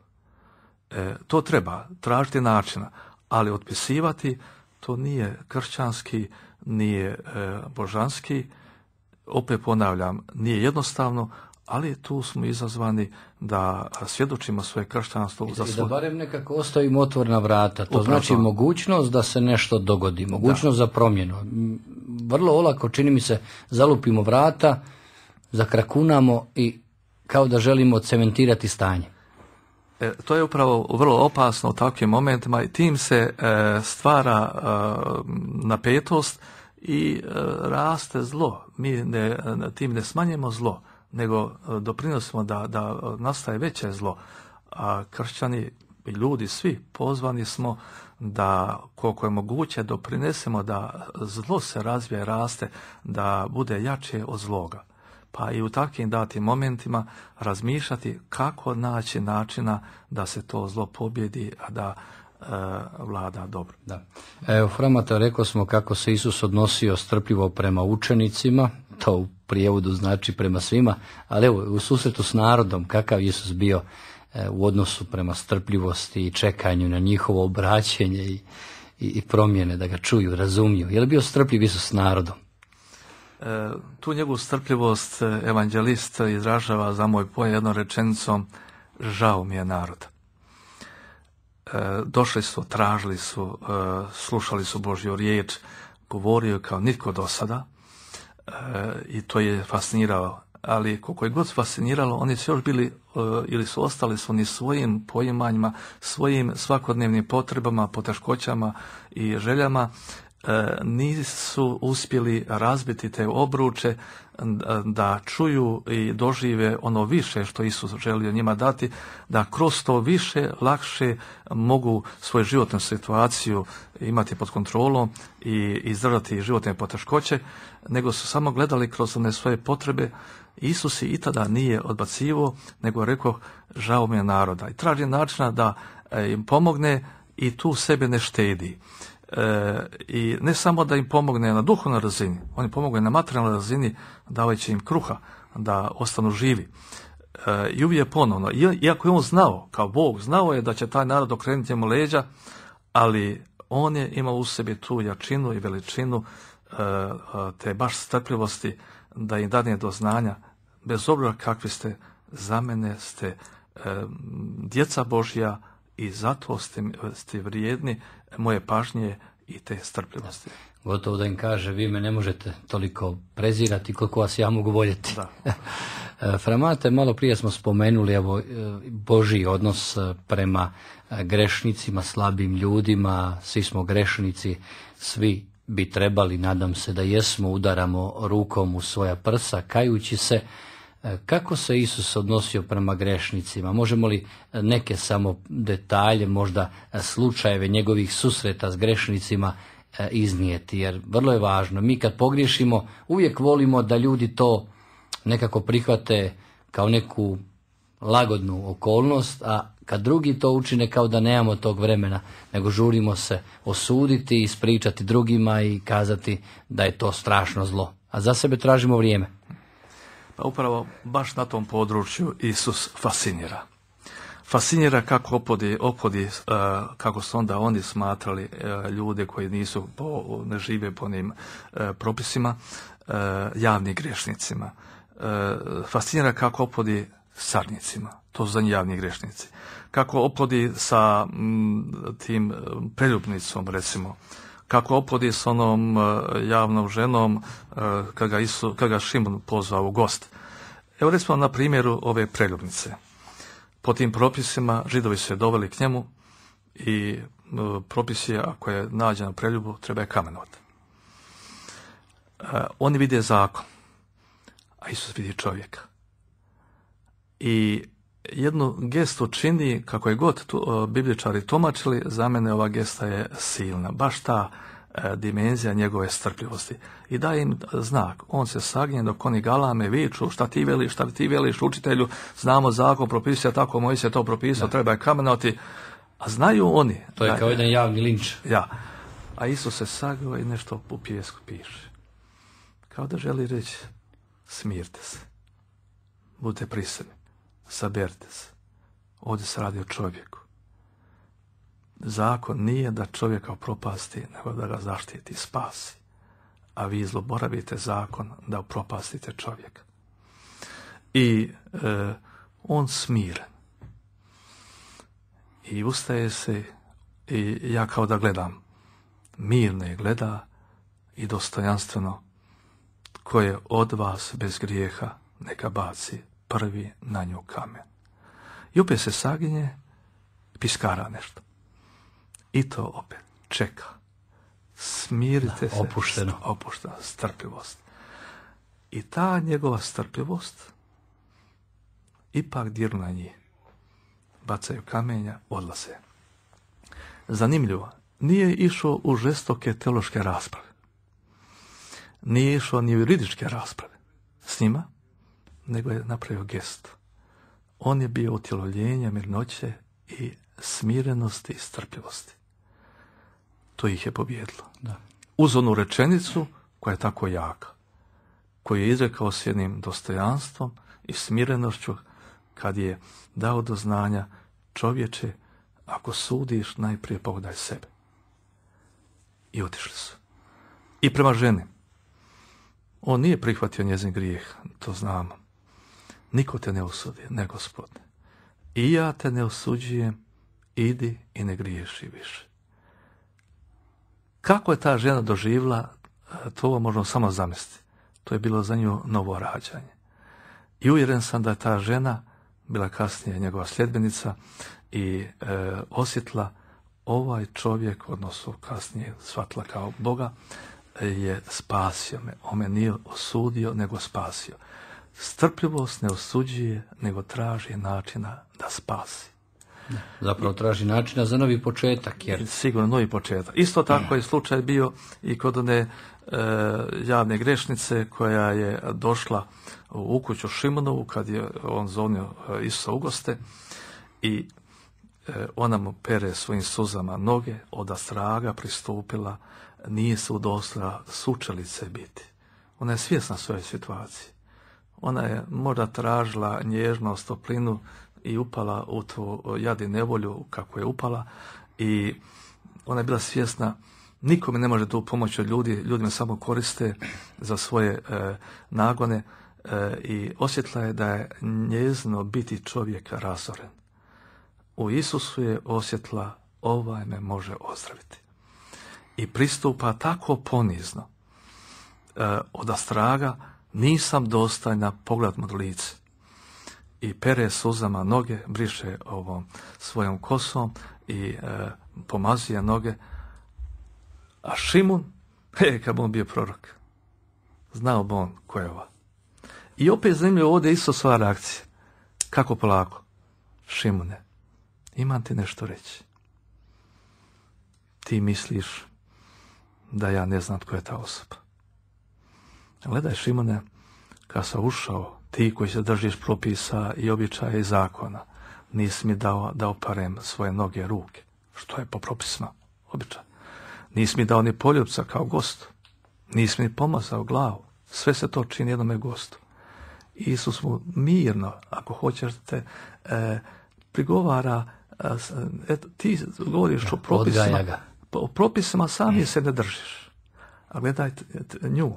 E, to treba tražiti načina, ali otpisivati to nije kršćanski, nije e, božanski. Opet ponavljam, nije jednostavno, ali tu smo izazvani da svjedočimo svoje kršćanstvo. I za da svoj... barem nekako ostavimo otvorena vrata. To Upravo. znači mogućnost da se nešto dogodi, mogućnost da. za promjenu. Vrlo olako, čini mi se, zalupimo vrata, zakrakunamo i kao da želimo cementirati stanje. E, to je upravo vrlo opasno u takvim momentima i tim se e, stvara e, napetost i e, raste zlo. Mi ne, tim ne smanjujemo zlo, nego doprinosimo da, da nastaje veće zlo. A kršćani i ljudi svi pozvani smo da koliko je moguće doprinesemo da zlo se razvije, raste, da bude jače od zloga. Pa i u takvim datim momentima razmišljati kako naći načina da se to zlo pobjedi, a da e, vlada dobro. Da. Evo, Framate, rekao smo kako se Isus odnosio strpljivo prema učenicima, to u prijevodu znači prema svima, ali evo, u susretu s narodom, kakav Isus bio e, u odnosu prema strpljivosti i čekanju na njihovo obraćenje i, i, i promjene, da ga čuju, razumiju. Je li bio strpljiv Isus s narodom? E, tu njegovu strpljivost evanđelist izražava za moj pojam jednom rečenicom, žao mi je narod. E, došli su, tražili su, e, slušali su Božju riječ, govorio kao nitko do sada e, i to je fasciniralo. Ali koliko je god fasciniralo, oni su još bili e, ili su ostali su ni svojim poimanjima, svojim svakodnevnim potrebama, poteškoćama i željama, E, nisu uspjeli razbiti te obruče da čuju i dožive ono više što Isus želio njima dati, da kroz to više, lakše mogu svoju životnu situaciju imati pod kontrolom i izdržati životne poteškoće, nego su samo gledali kroz one svoje potrebe. Isus i tada nije odbacivo, nego rekao, žao mi je naroda. I traži načina da im pomogne i tu sebe ne štedi. E, I ne samo da im pomogne na duhovnoj razini, on im pomogne na materijalnoj razini, davajući im kruha, da ostanu živi. E, I uvijek ponovno, iako je on znao, kao Bog, znao je da će taj narod okrenuti mu leđa, ali on je imao u sebi tu jačinu i veličinu e, te baš strpljivosti da im dadne do znanja, bez obzira kakvi ste, za mene ste e, djeca Božja i zato ste, ste vrijedni moje pažnje i te strpljivosti. Gotovo da im kaže, vi me ne možete toliko prezirati koliko vas ja mogu voljeti. Da. Framate, malo prije smo spomenuli evo, Božji odnos prema grešnicima, slabim ljudima, svi smo grešnici, svi bi trebali, nadam se da jesmo, udaramo rukom u svoja prsa, kajući se. Kako se Isus odnosio prema grešnicima? Možemo li neke samo detalje, možda slučajeve njegovih susreta s grešnicima iznijeti? Jer vrlo je važno. Mi kad pogriješimo, uvijek volimo da ljudi to nekako prihvate kao neku lagodnu okolnost, a kad drugi to učine kao da nemamo tog vremena, nego žurimo se osuditi, ispričati drugima i kazati da je to strašno zlo. A za sebe tražimo vrijeme. Pa upravo baš na tom području Isus fascinira. Fascinira kako opodi, opodi uh, kako su onda oni smatrali uh, ljude koji nisu po, ne žive po onim uh, propisima, uh, javnim grešnicima. Uh, fascinira kako opodi carnicima, to su za njih javni grešnici. Kako opodi sa m, tim preljubnicom, recimo. Kako opodi s onom uh, javnom ženom uh, kad ga, Isu, kad ga Šimon pozvao u gost. Evo recimo na primjeru ove preljubnice. Po tim propisima Židovi su je doveli k njemu i uh, propis je, ako je nađen na preljubu, treba je kamenovati. Uh, oni vide zakon, a Isus vidi čovjeka. I jednu gestu čini, kako je god tu, uh, bibličari tumačili, za mene ova gesta je silna. Baš ta uh, dimenzija njegove strpljivosti. I daje im znak. On se sagnje dok oni galame, viču, šta ti veliš, šta ti veliš, učitelju, znamo zakon, propisuje tako, moj se to propisao, treba je kamenovati. A znaju oni. To je da, kao jedan javni linč. Ja. A Isus se sagao i nešto u pijesku piše. Kao da želi reći, smirte se. Budite prisredni. Saberite se. Ovdje se radi o čovjeku. Zakon nije da čovjeka upropasti, nego da ga zaštiti, spasi. A vi zloboravite zakon da upropastite čovjeka. I e, on smiren. I ustaje se i ja kao da gledam. Mirno je gleda i dostojanstveno. Ko je od vas bez grijeha, neka baci prvi na nju kamen. I opet se saginje, piskara nešto. I to opet čeka. Smirite da, se. Opušteno. Opuštena strpljivost. I ta njegova strpljivost ipak dirnu na njih. Bacaju kamenja, odlaze. Zanimljivo, nije išao u žestoke teološke rasprave. Nije išao ni u juridičke rasprave s njima, nego je napravio gestu. On je bio utjelovljenje mirnoće i smirenosti i strpljivosti. To ih je pobjedilo. Da. Uz onu rečenicu koja je tako jaka, koju je izrekao s jednim dostojanstvom i smirenošću kad je dao do znanja, čovječe, ako sudiš, najprije pogledaj sebe. I otišli su. I prema ženi. On nije prihvatio njezin grijeh, to znamo. Niko te ne osudi, ne Gospode. I ja te ne osuđujem, idi i ne griješi više. Kako je ta žena doživjela, to možemo samo zamisliti. To je bilo za nju novo rađanje. I uvjeren sam da je ta žena bila kasnije njegova sljedbenica i e, osjetila ovaj čovjek, odnosno kasnije shvatila kao Boga, je spasio me. On me nije osudio, nego spasio. Strpljivost ne osuđuje, nego traži načina da spasi. Zapravo traži načina za novi početak. Jer... Sigurno novi početak. Isto tako je slučaj bio i kod one e, javne grešnice koja je došla u kuću Šimonovu kad je on zovnio Isusa u goste i ona mu pere svojim suzama noge, od straga pristupila, nije se udostojala sučelice biti. Ona je svjesna svoje situacije. Ona je možda tražila nježnost, toplinu i upala u tu jad i nevolju kako je upala, i ona je bila svjesna, nikome ne može tu pomoći od ljudi, ljudi me samo koriste za svoje e, nagone, e, i osjetila je da je njezino biti čovjeka razoren. U Isusu je osjetila, ovaj me može ozdraviti. I pristupa tako ponizno, e, odastraga, nisam dostojna, pogled mu lice. I pere suzama noge, briše ovom svojom kosom i e, pomazuje noge. A Šimun, he, kad bi on bio prorok, znao bi on ko je ova. I opet zanimljivo ovdje Isusova reakcija. Kako polako? Šimune, imam ti nešto reći. Ti misliš da ja ne znam tko je ta osoba. Gledaj, Šimune, kad sam ušao, ti koji se držiš propisa i običaja i zakona, nisi mi dao da oparem svoje noge, ruke, što je po propisima običaj. Nisi mi dao ni poljupca kao gostu, nisi mi pomazao glavu, sve se to čini jednome gostu. Isus mu mirno, ako hoćete, e, prigovara, e, eto, ti govoriš o propisima, o propisima sami se ne držiš. A gledajte nju,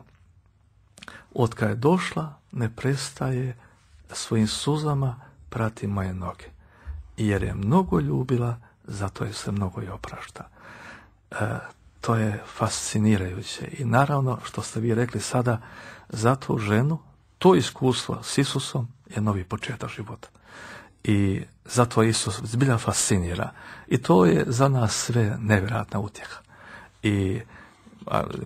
od kad je došla, ne prestaje svojim suzama prati moje noge. Jer je mnogo ljubila, zato je se mnogo i oprašta. E, to je fascinirajuće. I naravno, što ste vi rekli sada, za tu ženu, to iskustvo s Isusom je novi početak života. I zato Isus zbilja fascinira. I to je za nas sve nevjerojatna utjeha. I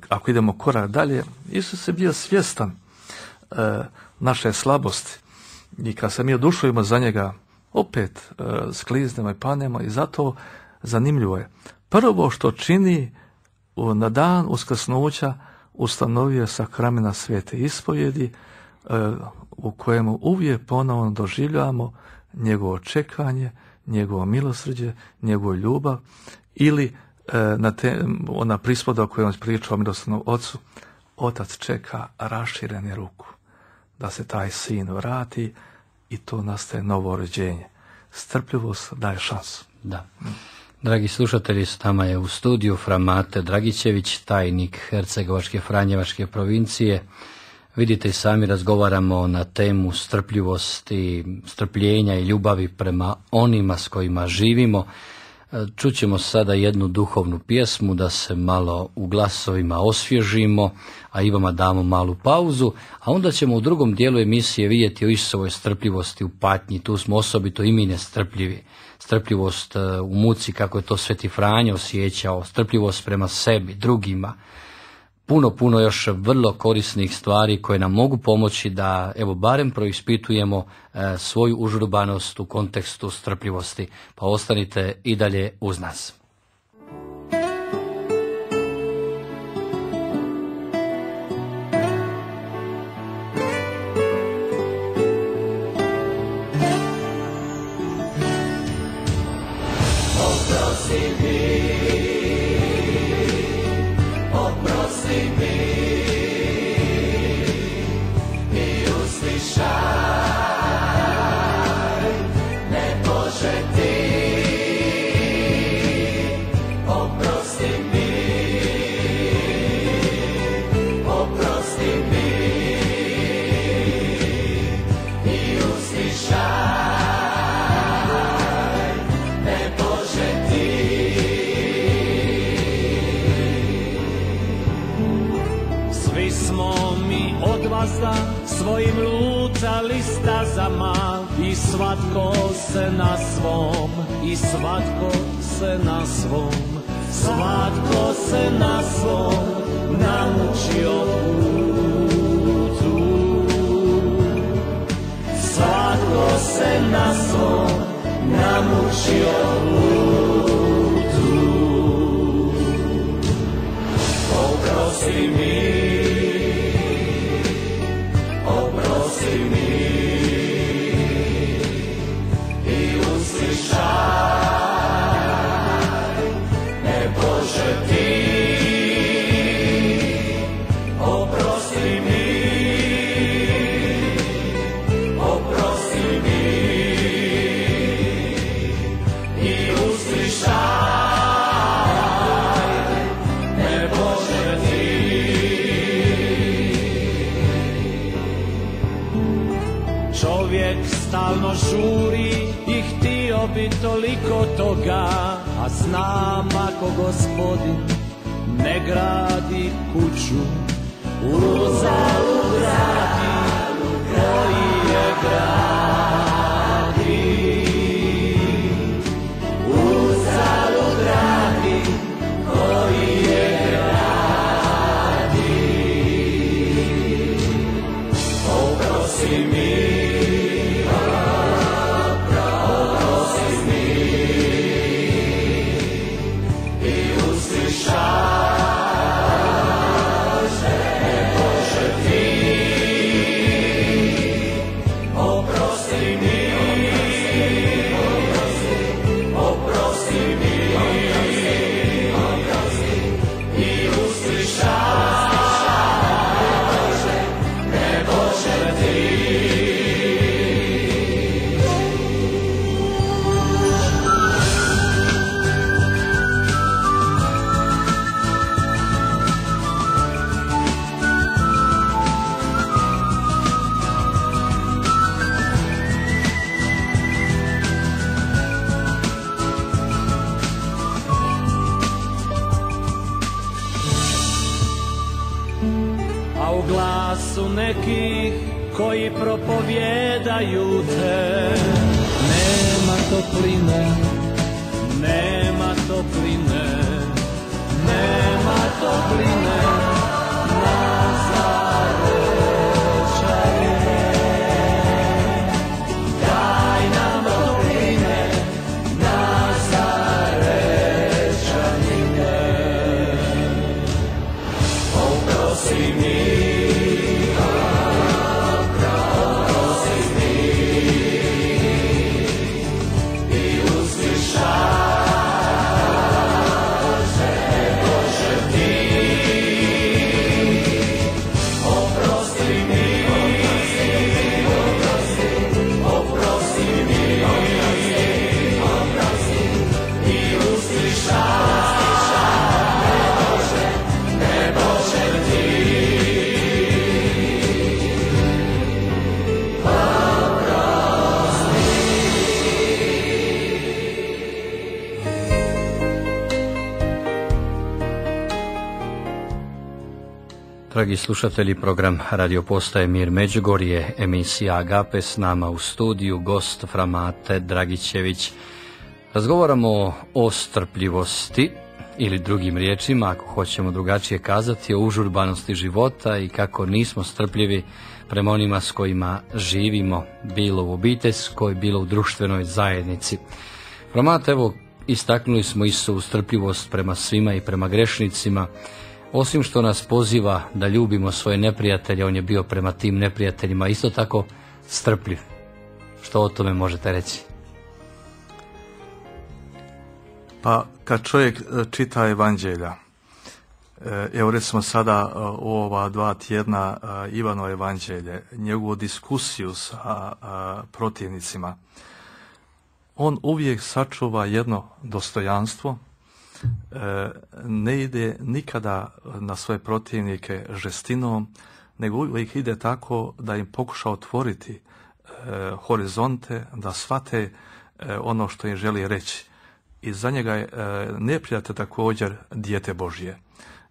ako idemo korak dalje, Isus je bio svjestan e, naše slabosti. I kad se mi odušujemo za njega, opet e, skliznemo i panemo, i zato zanimljivo je. Prvo što čini u, na dan uskrsnuća, ustanovio je sakramena svete ispovjedi, e, u kojemu uvijek ponovno doživljavamo njegovo čekanje, njegovo milosrđe, njegovu ljubav, ili na te, ona prispoda o kojoj on pričao o milosrdnom ocu, otac čeka raširene ruku da se taj sin vrati, i to nastaje novo rođenje. Strpljivost daje šansu. Da. Dragi slušatelji, s nama je u studiju fra Mate Dragićević, tajnik Hercegovačke Franjevačke provincije. Vidite i sami, razgovaramo na temu strpljivosti, strpljenja i ljubavi prema onima s kojima živimo. Čućemo sada jednu duhovnu pjesmu da se malo u glasovima osvježimo, a i vama damo malu pauzu, a onda ćemo u drugom dijelu emisije vidjeti o Isusovoj strpljivosti u patnji. Tu smo osobito i mi nestrpljivi. Strpljivost u muci, kako je to Sveti Franjo osjećao, strpljivost prema sebi, drugima. Puno, puno još vrlo korisnih stvari koje nam mogu pomoći da, evo, barem proispitujemo e, svoju užurbanost u kontekstu strpljivosti. Pa ostanite i dalje uz nas. Svojim lutali stazama, i svatko se na svom, i svatko se na svom, svatko se na svom naučio putu. Svatko se na svom naučio putu. Oprosti mi, oprosti mi i uslišaj. i uslišaj me Bože ti. Čovjek stalno žuri i htio bi toliko toga, a znam ako Gospodin ne gradi kuću, uzalud gradi koji je gradi. Uzalud gradi koji je gradi. Oprosti mi, oprosti mi i uslišaj. Nekih koji propovjedaju te, nema topline, nema topline, nema topline, Nazarečane. Daj nam topline, Nazarečanine. Oprosti mi, dragi slušatelji, program Radio Postaje Mir Međugorje, emisija Agape, s nama u studiju gost Framate Dragićević. Razgovaramo o strpljivosti, ili drugim riječima, ako hoćemo drugačije kazati, o užurbanosti života i kako nismo strpljivi prema onima s kojima živimo, bilo u obiteljskoj, bilo u društvenoj zajednici. Framate, evo, istaknuli smo Isusovu strpljivost prema svima i prema grešnicima. Osim što nas poziva da ljubimo svoje neprijatelje, on je bio prema tim neprijateljima isto tako strpljiv. Što o tome možete reći? Pa kad čovjek čita evanđelja, evo recimo sada u ova dva tjedna Ivano evanđelje, njegovu diskusiju sa protivnicima, on uvijek sačuva jedno dostojanstvo, ne ide nikada na svoje protivnike žestinom, nego uvijek ide tako da im pokuša otvoriti horizonte, da shvate ono što im želi reći. I za njega je neprijatelj također dijete Božje.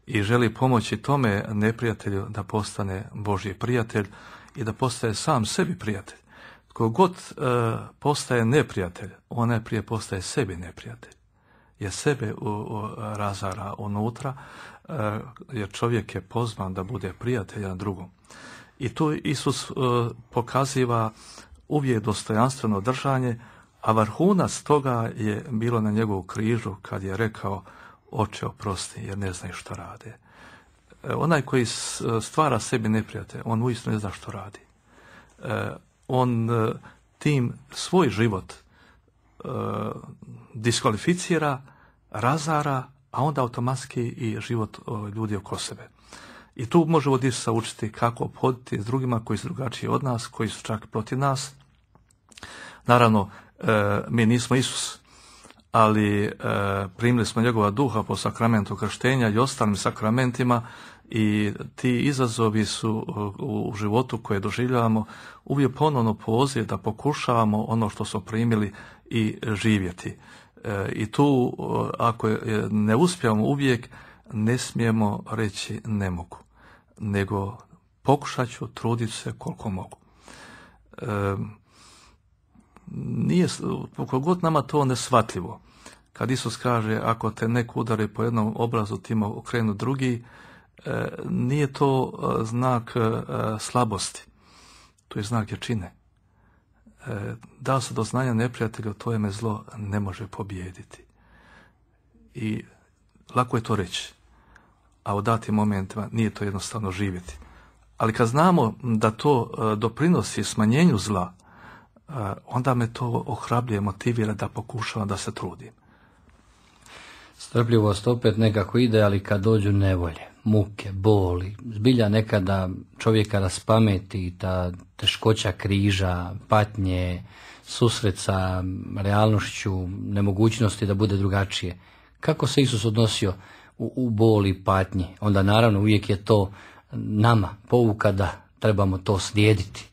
I želi pomoći tome neprijatelju da postane Božji prijatelj i da postaje sam sebi prijatelj. Tko god postaje neprijatelj, on najprije postaje sebi neprijatelj. Jer sebe u, u, razara unutra, jer čovjek je pozvan da bude prijatelj na drugom. I tu Isus pokaziva uvijek dostojanstveno držanje, a vrhunac toga je bilo na njegovu križu kad je rekao: Oče, oprosti, jer ne znaju što rade. Onaj koji stvara sebi neprijatelj, on uistinu ne zna što radi. On tim svoj život diskvalificira, razara, a onda automatski i život ljudi oko sebe. I tu možemo od Isusa učiti kako ophoditi s drugima koji su drugačiji od nas, koji su čak protiv nas. Naravno, e, mi nismo Isus, ali e, primili smo njegova duha po sakramentu krštenja i ostalim sakramentima i ti izazovi su u, u životu koje doživljavamo uvijek ponovno poziv da pokušavamo ono što smo primili i živjeti. E, I tu, ako ne uspijemo uvijek, ne smijemo reći ne mogu, nego pokušat ću, trudit se koliko mogu. E, nije, koliko god nama to neshvatljivo, kad Isus kaže ako te neko udari po jednom obrazu, ti mu okrenu drugi, e, nije to znak e, slabosti, to je znak jačine. E, dao se do znanja neprijatelju, to me zlo ne može pobijediti. I lako je to reći, a u datim momentima nije to jednostavno živjeti. Ali kad znamo da to e, doprinosi smanjenju zla, e, onda me to ohrabruje, motivira da pokušavam, da se trudim. Strpljivost opet nekako ide, ali kad dođu nevolje, muke, boli, zbilja nekada čovjeka raspameti, ta teškoća križa, patnje, susret sa realnošću, nemogućnosti da bude drugačije. Kako se Isus odnosio u, u boli i patnji? Onda naravno uvijek je to nama pouka da trebamo to slijediti.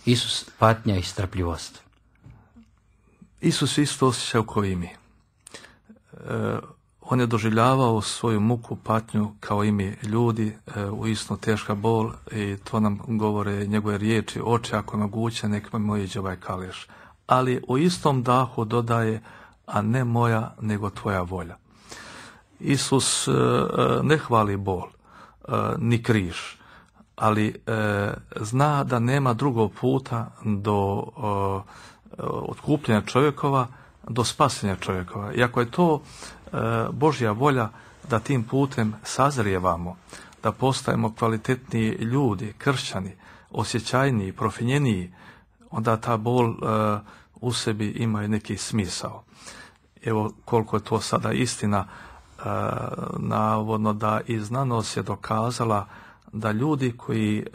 Isus, patnja i strpljivost. Isus isto osjećao kao i mi. E, on je doživljavao svoju muku, patnju kao i mi ljudi, e, uistinu teška bol, i to nam govore njegove riječi: oče, ako je moguće, nek me moj iđe ovaj kaleš. Ali u istom dahu dodaje: a ne moja, nego tvoja volja. Isus e, ne hvali bol, e, ni križ, ali e, zna da nema drugog puta do e, otkupljenja čovjekova, do spasenja čovjekova. I ako je to e, Božja volja da tim putem sazrijevamo, da postajemo kvalitetniji ljudi, kršćani, osjećajniji, profinjeniji, onda ta bol e, u sebi ima i neki smisao. Evo koliko je to sada istina, e, navodno da i znanost je dokazala da ljudi koji e,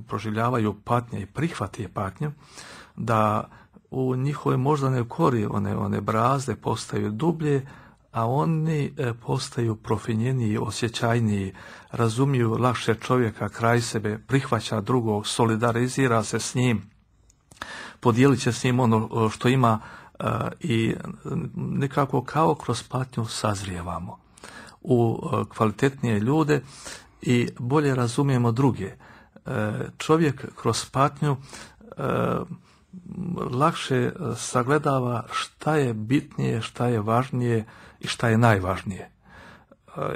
proživljavaju patnje i prihvati patnju, da u njihovoj moždanoj kori one, one brazde postaju dublje, a oni e, postaju profinjeniji, osjećajniji, razumiju lakše čovjeka kraj sebe, prihvaća drugog, solidarizira se s njim, podijelit će s njim ono što ima e, i nekako kao kroz patnju sazrijevamo u e, kvalitetnije ljude i bolje razumijemo druge. E, čovjek kroz patnju e, lakše sagledava šta je bitnije, šta je važnije i šta je najvažnije.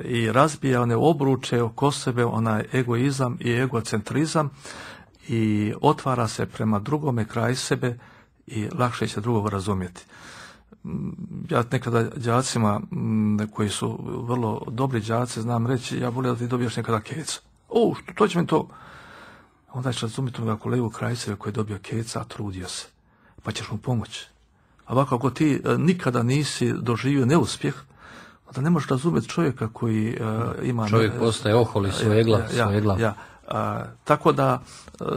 I razbija one obruče oko sebe, onaj egoizam i egocentrizam, i otvara se prema drugome kraj sebe i lakše će drugog razumjeti. Ja nekada đacima koji su vrlo dobri đaci znam reći: ja volim da ti dobiješ nekada keca. O, to će mi to... Onda ćeš razumjeti onoga kolegu kraj sebe koji je dobio keca, a trudio se, pa ćeš mu pomoći. A ovako, ako ti e, nikada nisi doživio neuspjeh, onda ne možeš razumjeti čovjeka koji e, ima... Čovjek ne, postaje oholi, svoj glav, ja, svoj glav. Ja, a, tako da,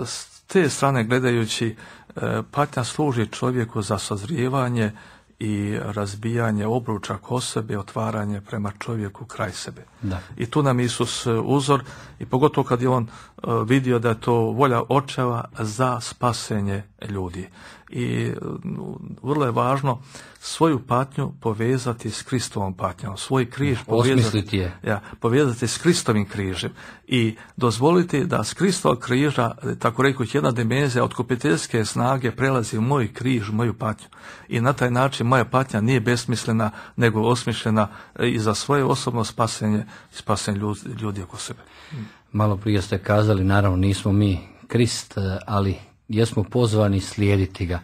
s te strane gledajući, e, patnja služi čovjeku za sazrijevanje i razbijanje obruča oko sebe, otvaranje prema čovjeku kraj sebe. Da. I tu nam Isus uzor, i pogotovo kad je on uh, vidio da je to volja očeva za spasenje ljudi. I uh, vrlo je važno svoju patnju povezati s Kristovom patnjom, svoj križ povezati, je. Ja, povezati s Kristovim križem i dozvoliti da s Kristovog križa, tako rekuć, jedna dimenzija otkupiteljske snage prelazi u moj križ, moju patnju. I na taj način moja patnja nije besmislena, nego osmišljena i za svoje osobno spasenje i spasenje ljudi, ljudi oko sebe. Malo prije ste kazali, naravno nismo mi Krist, ali jesmo pozvani slijediti ga.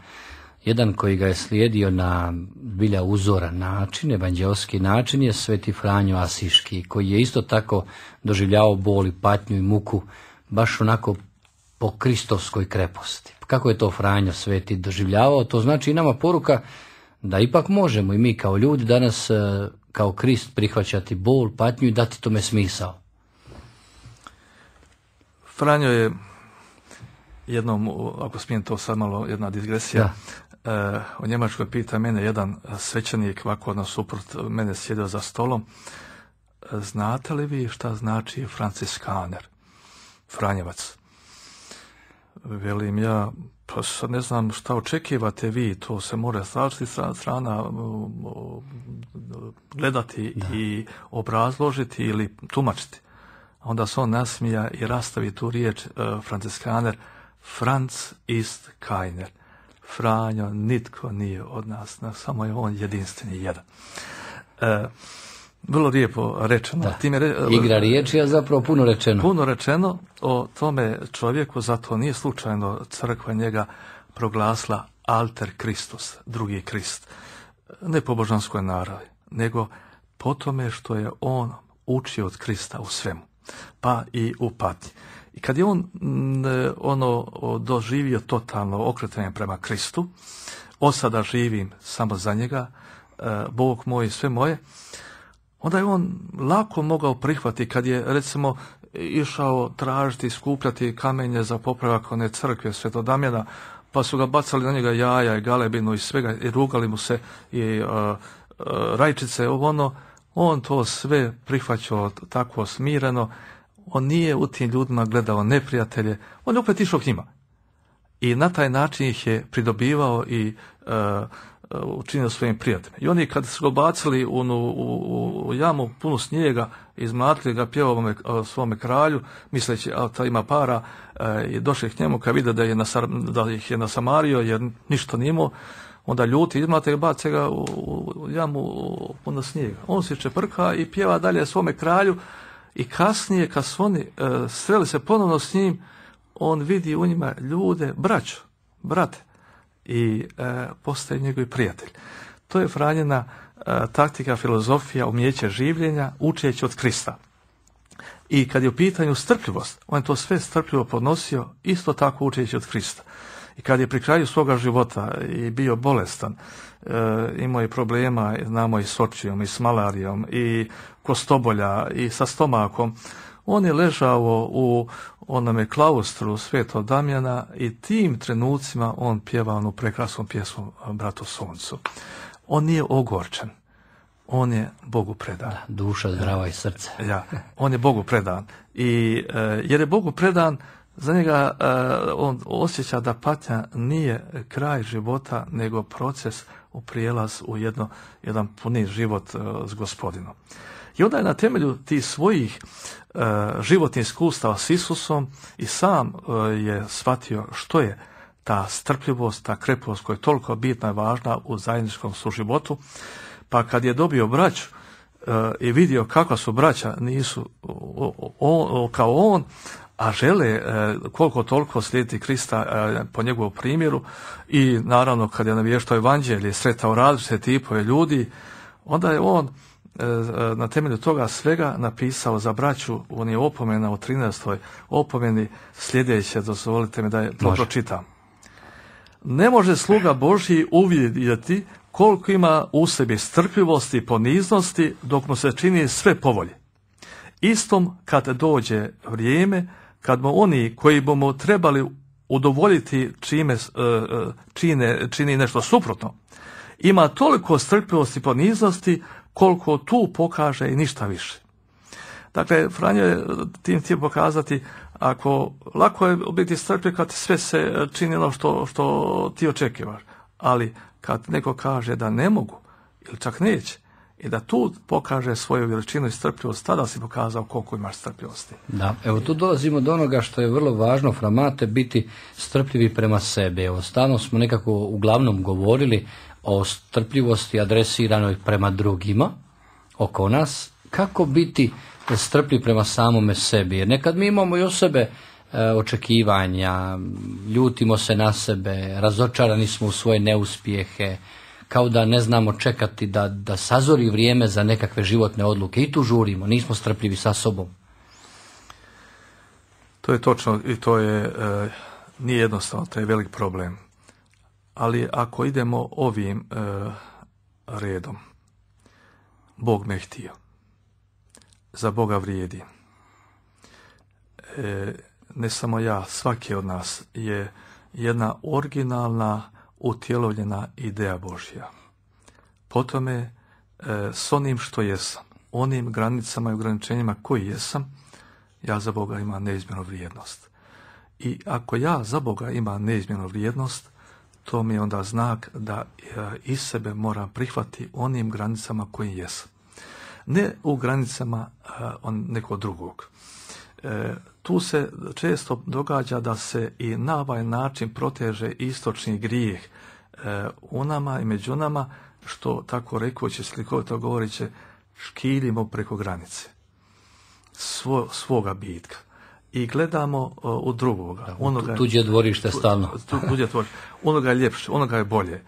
Jedan koji ga je slijedio na bilja uzoran način, evanđelski način, je Sveti Franjo Asiški, koji je isto tako doživljavao bol i patnju i muku baš onako po kristovskoj kreposti. Kako je to Franjo Sveti doživljavao? To znači i nama poruka da ipak možemo i mi kao ljudi danas kao Krist prihvaćati bol, patnju i dati tome smisao. Franjo je jednom, ako smijem to sad malo, jedna digresija, uh, u Njemačkoj pita mene jedan svećenik, ovako nasuprot mene sjedio za stolom, znate li vi šta znači franciskaner, Franjevac? Velim ja, pa sad ne znam šta očekivate vi, to se mora strašiti strana gledati da. I obrazložiti ili tumačiti. Onda se on nasmija i rastavi tu riječ uh, franciskaner, Franz ist keiner. Franjo, nitko nije od nas, samo je on jedinstveni jedan. Uh, Vrlo lijepo rečeno. Time re... Igra riječi, a zapravo puno rečeno. Puno rečeno o tome čovjeku, zato nije slučajno crkva njega proglasila alter Kristus, drugi Krist. Ne po božanskoj naravi, nego po tome što je on učio od Krista u svemu, pa i u patnji. I kad je on ono doživio totalno okretanje prema Kristu, od sada živim samo za njega, Bog moj, sve moje, onda je on lako mogao prihvatiti kad je, recimo, išao tražiti, skupljati kamenje za popravak one crkve Svetog Damjana, pa su ga bacali na njega jaja i galebinu i svega, i rugali mu se i uh, uh, rajčice, ono, on to sve prihvaćao tako smireno, on nije u tim ljudima gledao neprijatelje, on je opet išao k njima. I na taj način ih je pridobivao i uh, učinio svojim prijateljima. I oni kad su ga bacili u, u, u jamu punu snijega, izmlatili ga, pjevao svome kralju, misleći a ta ima para, e, i došli k njemu kad vide da, je nasar, da ih je nasamario jer ništa nije imao, onda ljuti, izmlate ga, bace ga u, u jamu puno snijega. On se čeprka i pjeva dalje svome kralju i kasnije kad su oni e, sreli se ponovno s njim, on vidi u njima ljude, braću, brate, i e, postaje njegovi prijatelj. To je Franjina e, taktika, filozofija, umjeće življenja, učeći od Krista. I kad je u pitanju strpljivost, on je to sve strpljivo podnosio, isto tako učeći od Krista. I kad je pri kraju svoga života i bio bolestan, e, imao je problema, znamo, i s očijom, i s malarijom, i kostobolja, i sa stomakom, on je ležao u onome klaustru Svetog Damjana i tim trenucima on pjeva onu prekrasnu pjesmu Bratu Suncu. On nije ogorčen, on je Bogu predan. Da, duša zdrava i srce. Ja, on je Bogu predan. I e, jer je Bogu predan, za njega e, on osjeća da patnja nije kraj života, nego proces u prijelaz u jedno, jedan puni život e, s Gospodinom. I onda je na temelju tih svojih e, životnih iskustava s Isusom i sam e, je shvatio što je ta strpljivost, ta krepost koja je toliko bitna i važna u zajedničkom suživotu. Pa kad je dobio braću e, i vidio kakva su braća, nisu o, o, o, kao on, a žele e, koliko toliko slijediti Krista e, po njegovom primjeru, i naravno kad je navještao evanđelje, sretao različite tipove ljudi, onda je on na temelju toga svega napisao za braću, on je opomena u trinaestoj opomeni sljedeće, dozvolite mi da je to pročitam. Ne može sluga Božji uvidjeti koliko ima u sebi strpljivosti i poniznosti dok mu se čini sve po volji. Istom kad dođe vrijeme, kad mu oni koji bi mu trebali udovoljiti čime čine, čini nešto suprotno, ima toliko strpljivosti i poniznosti koliko tu pokaže i ništa više. Dakle, Franjo je tim htio pokazati, ako lako je biti strpljiv kad sve se čini ono što, što ti očekivaš, ali kad neko kaže da ne mogu ili čak neće, i da tu pokaže svoju veličinu i strpljivost, tada si pokazao koliko imaš strpljivosti. Da, evo tu dolazimo do onoga što je vrlo važno, Framate, biti strpljivi prema sebi. Evo, stalno smo nekako uglavnom govorili o strpljivosti adresiranoj prema drugima oko nas. Kako biti strpljiv prema samome sebi? Jer nekad mi imamo i o sebe e, očekivanja, ljutimo se na sebe, razočarani smo u svoje neuspjehe, kao da ne znamo čekati da, da sazori vrijeme za nekakve životne odluke, i tu žurimo, nismo strpljivi sa sobom. To je točno i to je e, nije jednostavno, to je velik problem. Ali ako idemo ovim e, redom, Bog me htio, za Boga vrijedi, e, ne samo ja, svaki od nas je jedna originalna, utjelovljena ideja Božja. Po tome, e, s onim što jesam, onim granicama i ograničenjima koji jesam, ja za Boga imam neizmjernu vrijednost. I ako ja za Boga imam neizmjernu vrijednost, to mi je onda znak da iz sebe moram prihvatiti onim granicama koji jesam. Ne u granicama on nekog drugog. E, tu se često događa da se i na ovaj način proteže istočni grijeh e, u nama i među nama, što tako rekući, slikovito govoreći, škiljimo preko granice svo, svoga bitka. I gledamo uh, u drugoga. Onoga, tuđe dvorište stalno. Tu, tuđe dvorište. Onoga je ljepše, onoga je bolje.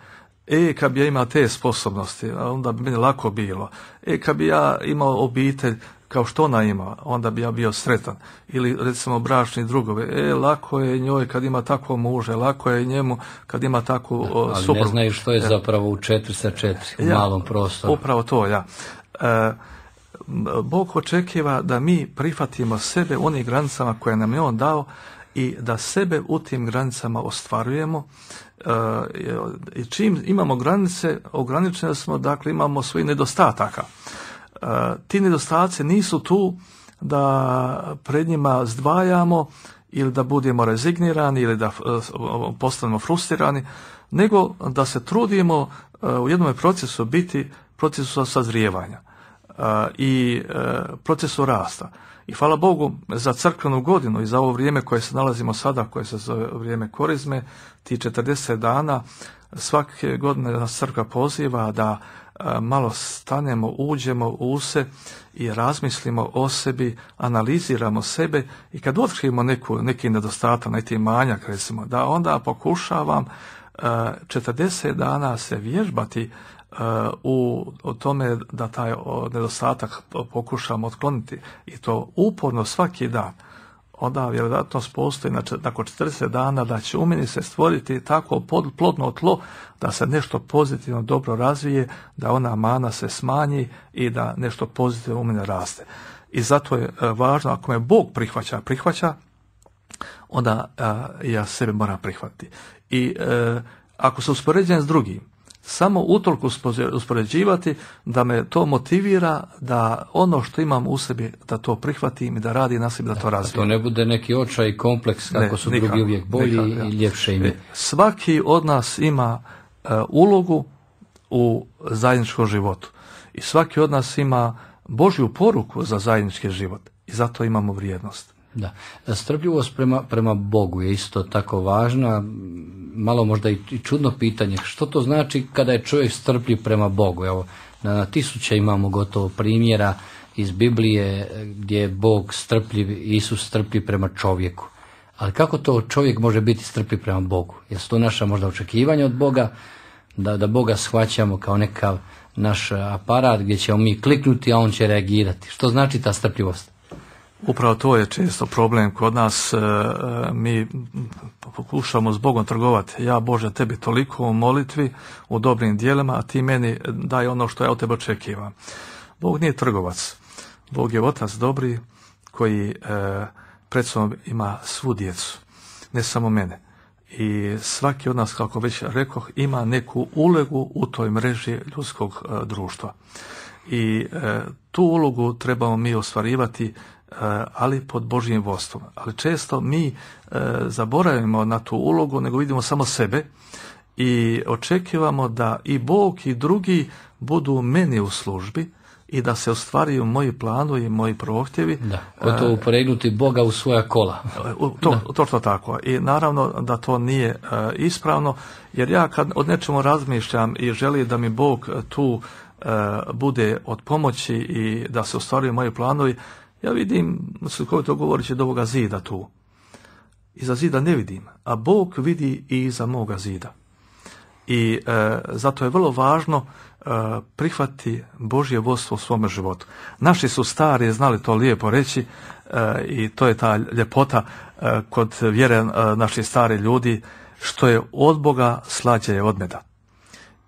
E, kad bi ja imao te sposobnosti, onda bi meni lako bilo. E, kad bi ja imao obitelj kao što ona ima, onda bi ja bio sretan. Ili recimo bračni drugove. E, lako je njoj kad ima takvo muže, lako je njemu kad ima takvu uh, ali suprugu. Ne znaju što je zapravo u četiri sa četiri, u ja, malom prostoru. Upravo to, ja. E, Bog očekiva da mi prihvatimo sebe u onim granicama koje nam je On dao i da sebe u tim granicama ostvarujemo. I čim imamo granice, ograničeni smo, dakle imamo svojih nedostataka. Ti nedostaci nisu tu da pred njima zdvajamo ili da budemo rezignirani ili da postanemo frustrirani, nego da se trudimo u jednom procesu biti procesu sazrijevanja. Uh, i uh, procesu rasta. I hvala Bogu za crkvenu godinu i za ovo vrijeme koje se nalazimo sada, koje se zove vrijeme korizme, ti četrdeset dana, svake godine nas crkva poziva da uh, malo stanemo, uđemo u se i razmislimo o sebi, analiziramo sebe i kad otkrivamo neku, neki nedostatak, neki manjak recimo, da onda pokušavam uh, četrdeset dana se vježbati u, u tome da taj nedostatak pokušam otkloniti i to uporno svaki dan. Onda vjerojatnost postoji nakon četrdeset dana da će u meni se stvoriti tako plodno tlo da se nešto pozitivno dobro razvije, da ona mana se smanji i da nešto pozitivno u mene raste. I zato je važno, ako me Bog prihvaća, prihvaća, onda a, ja sebe moram prihvatiti. I a, ako se uspoređujem s drugim, samo utoliko uspoređivati da me to motivira da ono što imam u sebi da to prihvatim i da radi na sebi da to razvijem. To ne bude neki očaj i kompleks kako ne, su nikak, drugi uvijek bolji nikak, ja. i ljepše ime. Svaki od nas ima uh, ulogu u zajedničkom životu i svaki od nas ima Božju poruku za zajednički život i zato imamo vrijednost. Da, strpljivost prema, prema Bogu je isto tako važna, malo možda i čudno pitanje, što to znači kada je čovjek strpljiv prema Bogu? Evo, na, na tisuće imamo gotovo primjera iz Biblije gdje je Bog strpljiv, Isus strpljiv prema čovjeku. Ali kako to čovjek može biti strpljiv prema Bogu? Jesu to naša možda očekivanja od Boga, da, da Boga shvaćamo kao nekav naš aparat gdje ćemo mi kliknuti, a on će reagirati? Što znači ta strpljivost? Upravo to je često problem kod nas, e, mi pokušamo s Bogom trgovati. Ja, Bože, tebi toliko u molitvi, u dobrim dijelima, a ti meni daj ono što ja od tebe očekivam. Bog nije trgovac. Bog je otac dobri koji e, pred sobom ima svu djecu, ne samo mene. I svaki od nas, kako već rekoh, ima neku ulogu u toj mreži ljudskog e, društva. I e, tu ulogu trebamo mi ostvarivati, ali pod Božjim vodstvom. Ali često mi e, zaboravimo na tu ulogu, nego vidimo samo sebe i očekivamo da i Bog i drugi budu meni u službi i da se ostvariju moji planovi i moji prohtjevi. Da, gotovo upregnuti Boga u svoja kola. To, to, to tako. I naravno da to nije e, ispravno, jer ja kad od nečemu razmišljam i želim da mi Bog tu e, bude od pomoći i da se ostvaruju moji planovi, ja vidim, slikovito govoreći, do ovoga zida tu. Iza zida ne vidim, a Bog vidi i iza moga zida. I e, zato je vrlo važno e, prihvatiti Božje vodstvo u svome životu. Naši su stari znali to lijepo reći e, i to je ta ljepota e, kod vjere e, naših stari ljudi, što je od Boga slađe je od meda.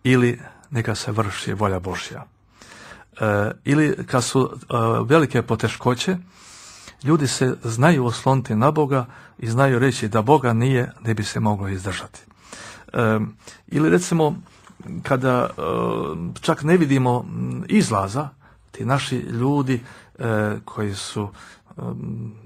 Ili neka se vrši volja Božja. Uh, ili kad su uh, velike poteškoće Ljudi se znaju osloniti na Boga i znaju reći da Boga nije, ne bi se moglo izdržati. E, ili recimo, kada e, čak ne vidimo izlaza, ti naši ljudi e, koji su e,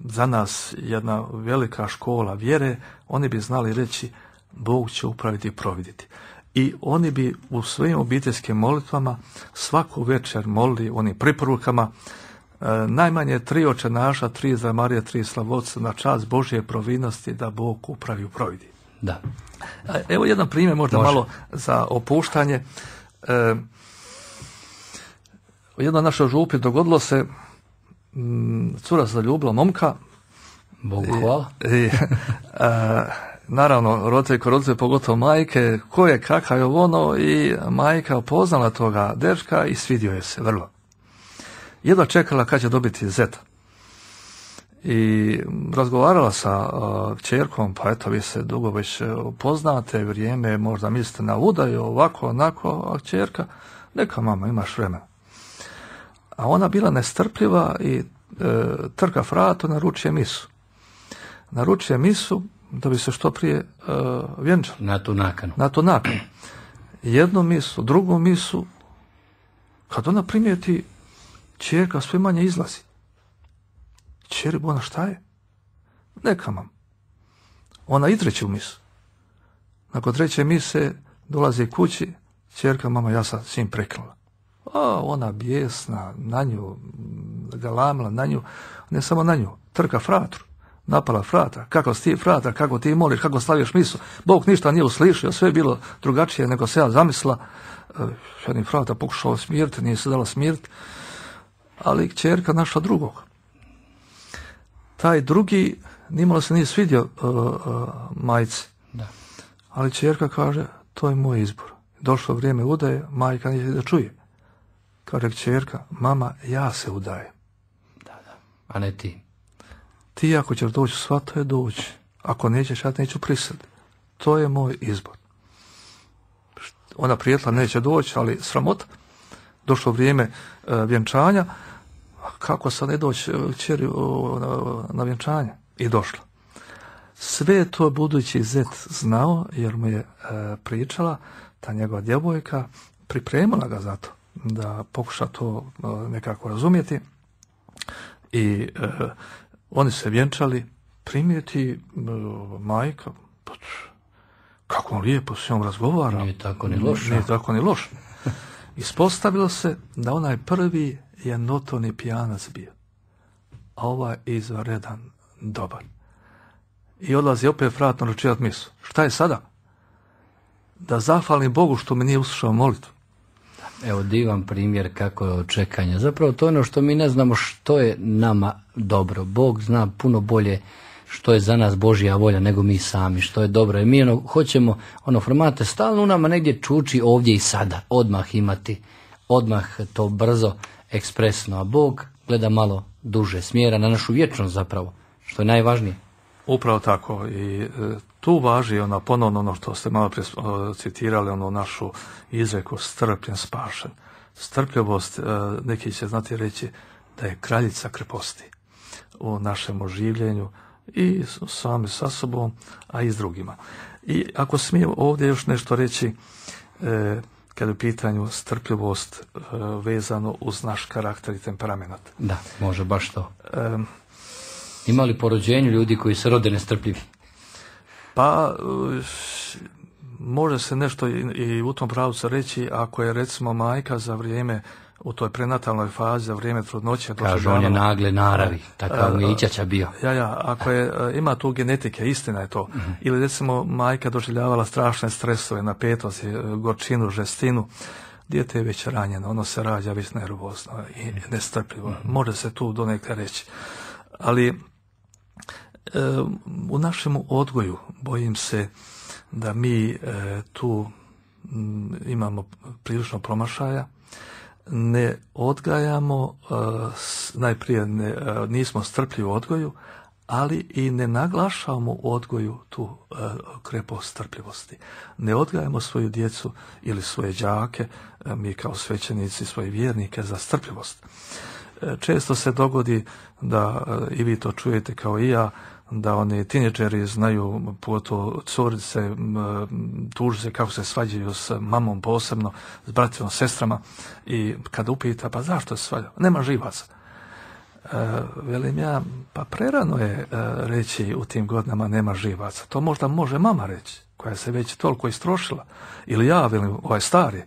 za nas jedna velika škola vjere, oni bi znali reći Bog će upraviti i providiti. I oni bi u svojim obiteljskim molitvama svaku večer molili onim preporukama e, najmanje tri oče naša, tri za Marija, tri slavotca na čast Božje providnosti da Bog upravi i providi. Da. Evo jedan primjer možda Može. malo za opuštanje. E, u jednoj našoj župi dogodilo se m, cura zaljubila momka. Bogu hvala. I, i, a, naravno, roditelji ko roditelji, pogotovo majke, ko je kakav je ono, i majka upoznala toga dečka i svidio je se vrlo. Jedva čekala kad će dobiti zeta. I razgovarala sa uh, kćerkom, pa eto, vi se dugo već upoznate, vrijeme, možda mislite na udaju, ovako, onako, a kćerka, neka mama, imaš vremena. A ona bila nestrpljiva i e, trka vrata, naručuje misu. Naručuje misu da bi se što prije e, vjenčala. Na tu nakanu. Na tu nakanu. Jednu misu, drugu misu, kad ona primijeti, kćerka sve manje izlazi. Kćeri, ona šta je? Neka mam. Ona i treću misu. Nakon treće mise dolazi kući, kćerka, mama, ja sam svim prekinula. A ona bijesna, na nju, galamila na nju, ne samo na nju, trka fratru, napala frata, kako si ti frata, kako ti moliš, kako slaviš misu. Bog ništa nije uslišio, sve je bilo drugačije nego se ja zamislila. Jedni frata pokušao smiriti, nije se dala smiriti, ali kćerka našla drugog. Taj drugi nimalo se nije svidio uh, uh, majci, Da. ali kćerka kaže, to je moj izbor. Došlo vrijeme udaje, majka nije da čuje. Kaže kćerka, mama, ja se udajem. Da, da. A ne ti. Ti ako ćeš doći, svato je doći. Ako nećeš, ja neću prisiliti. To je moj izbor. Ona prijetla neće doći, ali sramota. Došlo vrijeme uh, vjenčanja. Kako sad ne doći kćeri uh, na, na vjenčanje? I došla. Sve to budući zet znao, jer mu je uh, pričala ta njegova djevojka, pripremila ga za to, da pokuša to uh, nekako razumjeti. I uh, oni se vjenčali, primijeti uh, majka, pa, kako on lijepo s njom razgovara. Nije tako ni loš. Nije tako ni loš. Ispostavilo se da onaj prvi je notorni pijanac bio, a ovaj izvanredan dobar. I odlazi opet frat naručivat misu. Šta je sada? Da zahvalim Bogu što mi nije uslušao molitvu. Evo divan primjer kako je očekanje. Zapravo to je ono što mi ne znamo što je nama dobro. Bog zna puno bolje što je za nas Božja volja nego mi sami, što je dobro. I mi ono, hoćemo, ono formate stalno u nama negdje čuči ovdje i sada, odmah imati, odmah to brzo, ekspresno. A Bog gleda malo duže, smjera na našu vječnost zapravo, što je najvažnije. Upravo tako. I e, tu važi ona ponovno ono što ste malo prije citirali, ono našu izreku strpljen spašen. Strpljivost, e, neki će znati reći da je kraljica kreposti u našem oživljenju i sami sa sobom, a i s drugima. I ako smijem ovdje još nešto reći, e, kad je u pitanju strpljivost e, vezano uz naš karakter i temperament. Da, može baš to. E, Ima li po rođenju ljudi koji se rode nestrpljivi? Pa, može se nešto i, i u tom pravcu reći, ako je recimo majka za vrijeme, u toj prenatalnoj fazi, za vrijeme trudnoće... Kažu, on je nagle naravi, takav mi je Ićaća bio. Ja, ja, ako je, ima tu genetike, istina je to. Mm-hmm. Ili recimo majka doživljavala strašne stresove, napetosti, gorčinu, žestinu, dijete je već ranjeno, ono se rađa već nervozno i nestrpljivo. Mm-hmm. Može se tu donekle reći. Ali u našem odgoju bojim se da mi tu imamo prilično promašaja, ne odgajamo, najprije ne, nismo strpljivi u odgoju, ali i ne naglašavamo u odgoju tu krepost strpljivosti. Ne odgajamo svoju djecu ili svoje đake, mi kao svećenici, svoje vjernike za strpljivost. često se dogodi da, i vi to čujete kao i ja, da oni tineđeri znaju, pogotovo curice, tuže se kako se svađaju s mamom posebno, s bratima, sestrama, i kada upita, pa zašto se svađaju? Nema živaca. E, velim ja, pa prerano je e, reći u tim godinama nema živaca. To možda može mama reći, koja se već toliko istrošila. Ili ja, velim, ovaj stari,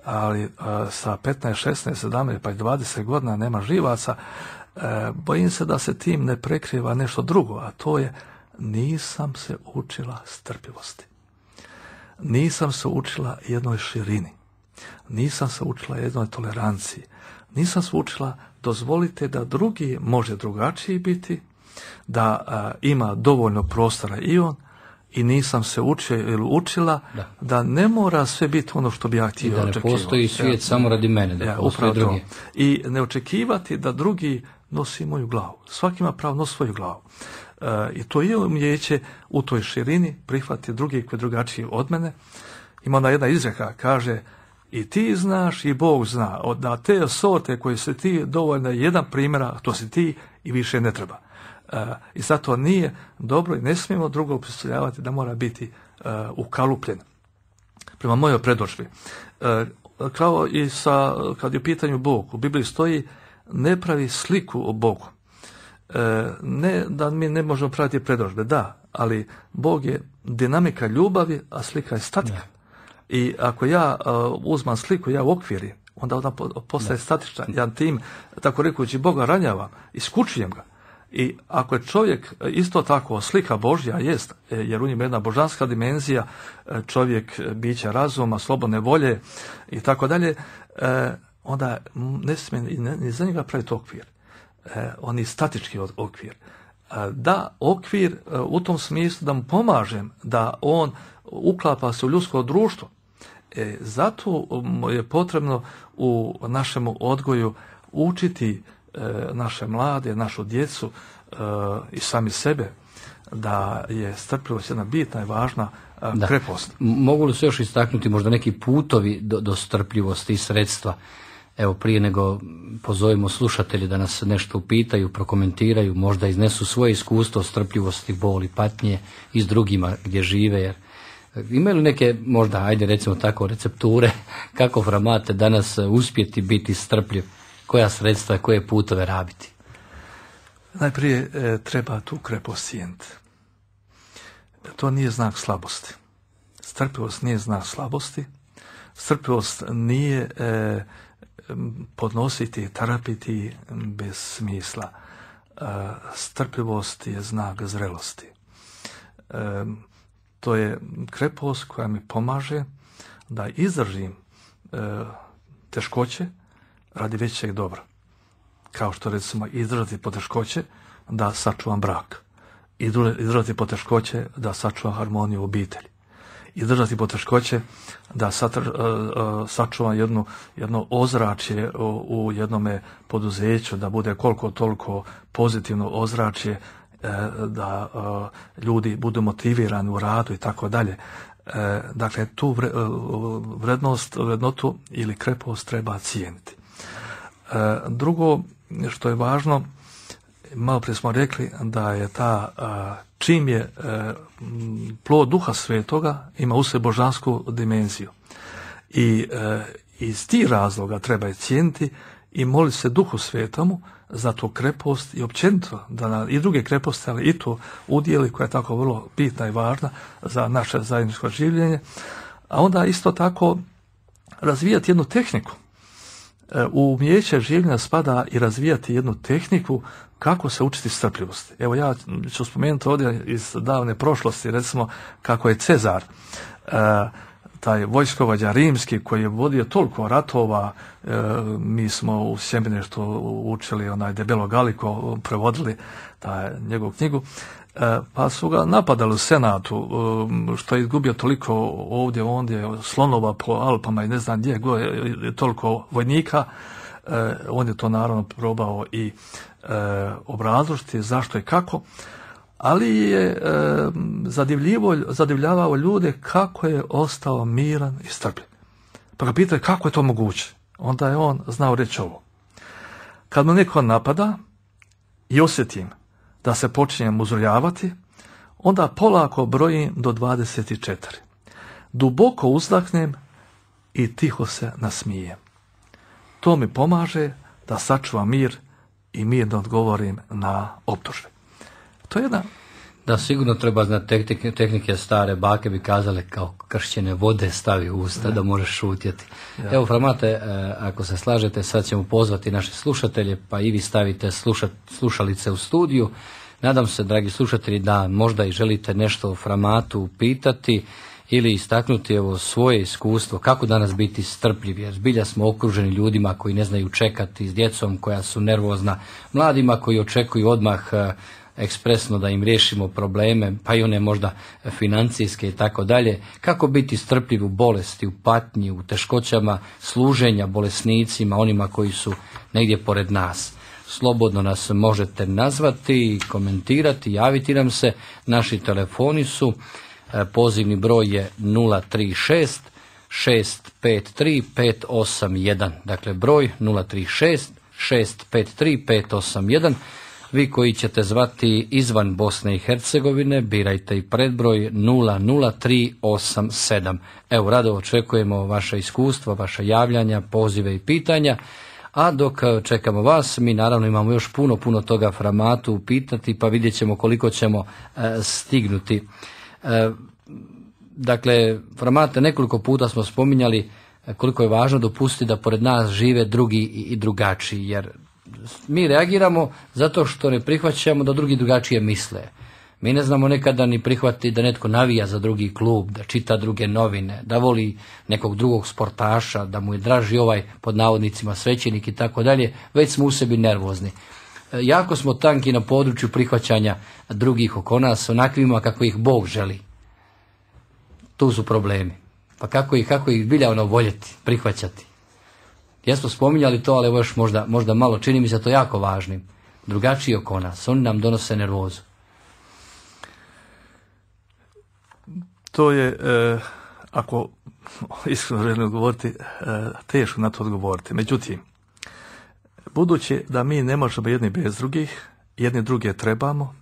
ali e, sa petnaest, šesnaest, sedamnaest pa i dvadeset godina nema živaca. E, bojim se da se tim ne prekriva nešto drugo, a to je nisam se učila strpljivosti. Nisam se učila jednoj širini. Nisam se učila jednoj toleranciji. Nisam se učila dozvolite da drugi može drugačiji biti, da a, ima dovoljno prostora i on, i nisam se učio ili učila da. da ne mora sve biti ono što bi ja htio očekivati. Da ne postoji svijet ja, samo radi mene, da ja, postoji drugi. I ne očekivati da drugi nosi moju glavu. Svaki ima pravo nosi svoju glavu. E, I to je umijeće u toj širini prihvatiti drugi koji je drugačiji od mene. Ima ona jedna izreka, kaže i ti znaš i Bog zna. Da te sorte koje se ti dovoljno jedan primjera, to si ti i više ne treba. E, I zato nije dobro i ne smijemo drugo predstavljavati da mora biti e, ukalupljen. Prema mojoj predodžbi. E, kao i sa, kad je u pitanju Bog, u Bibliji stoji ne pravi sliku o Bogu. E, ne da mi ne možemo praviti predodžbe, da, ali Bog je dinamika ljubavi, a slika je statika. Ne. I ako ja uh, uzmam sliku, ja u okviri, onda ona postaje ne. statična. Ja tim, tako rekući, Boga ranjavam, iskučujem ga. I ako je čovjek isto tako slika Božja, jest, jer u njima jedna božanska dimenzija, čovjek bića razuma, slobodne volje i tako dalje, onda ne smije ni za njega praviti okvir. On je statički okvir. Da, okvir u tom smislu da mu pomažem da on uklapa se u ljudsko društvo. E, zato je potrebno u našem odgoju učiti e, naše mlade, našu djecu e, i sami sebe da je strpljivost jedna bitna i važna e, krepost. Mogu li se još istaknuti možda neki putovi do, do strpljivosti i sredstva? Evo, prije nego pozovemo slušatelji da nas nešto upitaju, prokomentiraju, možda iznesu svoje iskustvo strpljivosti, boli, patnje i s drugima gdje žive, jer imaju li neke, možda, ajde recimo tako, recepture kako Framate danas uspjeti biti strpljiv, koja sredstva, koje putove rabiti? Najprije e, treba tu krepost cijeniti. To nije znak slabosti. Strpljivost nije znak slabosti. Strpljivost nije e, podnositi, trpiti bez smisla. E, strpljivost je znak zrelosti. E, To je krepost koja mi pomaže da izdržim e, teškoće radi većeg dobra. Kao što recimo izdržati poteškoće da sačuvam brak. Izdržati poteškoće da sačuvam harmoniju u obitelji. Izdržati poteškoće da satr, e, e, sačuvam jednu, jedno ozračje u, u jednome poduzeću, da bude koliko toliko pozitivno ozračje, da uh, ljudi budu motivirani u radu i tako dalje. Dakle, tu vre, uh, vrednost, vrednotu ili krepost treba cijeniti. Uh, drugo, što je važno, malo prije smo rekli da je ta, uh, čim je uh, plod Duha Svetoga, ima u sebi božansku dimenziju. I uh, iz tih razloga treba je cijeniti i moliti se Duhu Svetomu za tu krepost i općenito da na, i druge kreposti, ali i to udjeli koja je tako vrlo bitna i važna za naše zajedničko življenje. A onda isto tako razvijati jednu tehniku. U umijeće življenja spada i razvijati jednu tehniku kako se učiti strpljivosti. Evo ja ću spomenuti ovdje iz davne prošlosti, recimo kako je Cezar, taj vojskovođa rimski koji je vodio toliko ratova, e, mi smo u sjemeništvu učili onaj Debelo Galiko, prevodili taj, njegovu knjigu, e, pa su ga napadali u Senatu, e, što je izgubio toliko ovdje, ondje, slonova po Alpama i ne znam gdje, go je toliko vojnika, e, on je to naravno probao i e, obrazložiti zašto i kako, ali je e, zadivljavao ljude kako je ostao miran i strpljiv. Pa ga pitaju kako je to moguće. Onda je on znao reći ovo. Kad me neko napada i osjetim da se počinjem uzrujavati, onda polako brojim do dvadeset četiri. Duboko uzdahnem i tiho se nasmijem. To mi pomaže da sačuvam mir i mirno odgovorim na optužbe. To je jedna... Da, sigurno treba znati tehnike, tehnike stare bake bi kazale kao kršćene vode stavi u usta, ne. Da možeš šutjeti. Ja. Evo, Framate, ako se slažete, sad ćemo pozvati naše slušatelje, pa i vi stavite sluša, slušalice u studiju. Nadam se, dragi slušatelji, da možda i želite nešto o Framatu pitati ili istaknuti evo svoje iskustvo, kako danas biti strpljivi, jer zbilja smo okruženi ljudima koji ne znaju čekati, s djecom koja su nervozna, mladima koji očekuju odmah ekspresno da im riješimo probleme, pa i one možda financijske i tako dalje. Kako biti strpljiv u bolesti, u patnji, u teškoćama služenja bolesnicima, onima koji su negdje pored nas. Slobodno nas možete nazvati, komentirati, javiti nam se. Naši telefoni su, pozivni broj je nula tri šest šest pet tri pet osam jedan. Dakle, broj nula tri šest šest pet tri pet osam jedan. Vi koji ćete zvati izvan Bosne i Hercegovine, birajte i predbroj nula nula tri osam sedam. Evo, rado očekujemo vaše iskustva, vaša javljanja, pozive i pitanja. A dok čekamo vas, mi naravno imamo još puno, puno toga Framatu pitati, pa vidjet ćemo koliko ćemo e, stignuti. E, dakle, Framate, nekoliko puta smo spominjali koliko je važno dopustiti da pored nas žive drugi i, i drugačiji, jer mi reagiramo zato što ne prihvaćamo da drugi drugačije misle. Mi ne znamo nekada ni prihvatiti da netko navija za drugi klub, da čita druge novine, da voli nekog drugog sportaša, da mu je draži ovaj pod navodnicima svećenik i tako dalje, već smo u sebi nervozni. Jako smo tanki na području prihvaćanja drugih oko nas, onakvima kako ih Bog želi. Tu su problemi. Pa kako ih, kako ih bilja ono voljeti, prihvaćati. Jesmo spominjali to, ali evo još možda, možda malo, čini mi se to jako važnim. Drugačiji oko nas, oni nam donose nervozu. To je, e, ako iskreno želim odgovoriti, e, teško na to odgovoriti. Međutim, budući da mi ne možemo jedni bez drugih, jedni druge trebamo,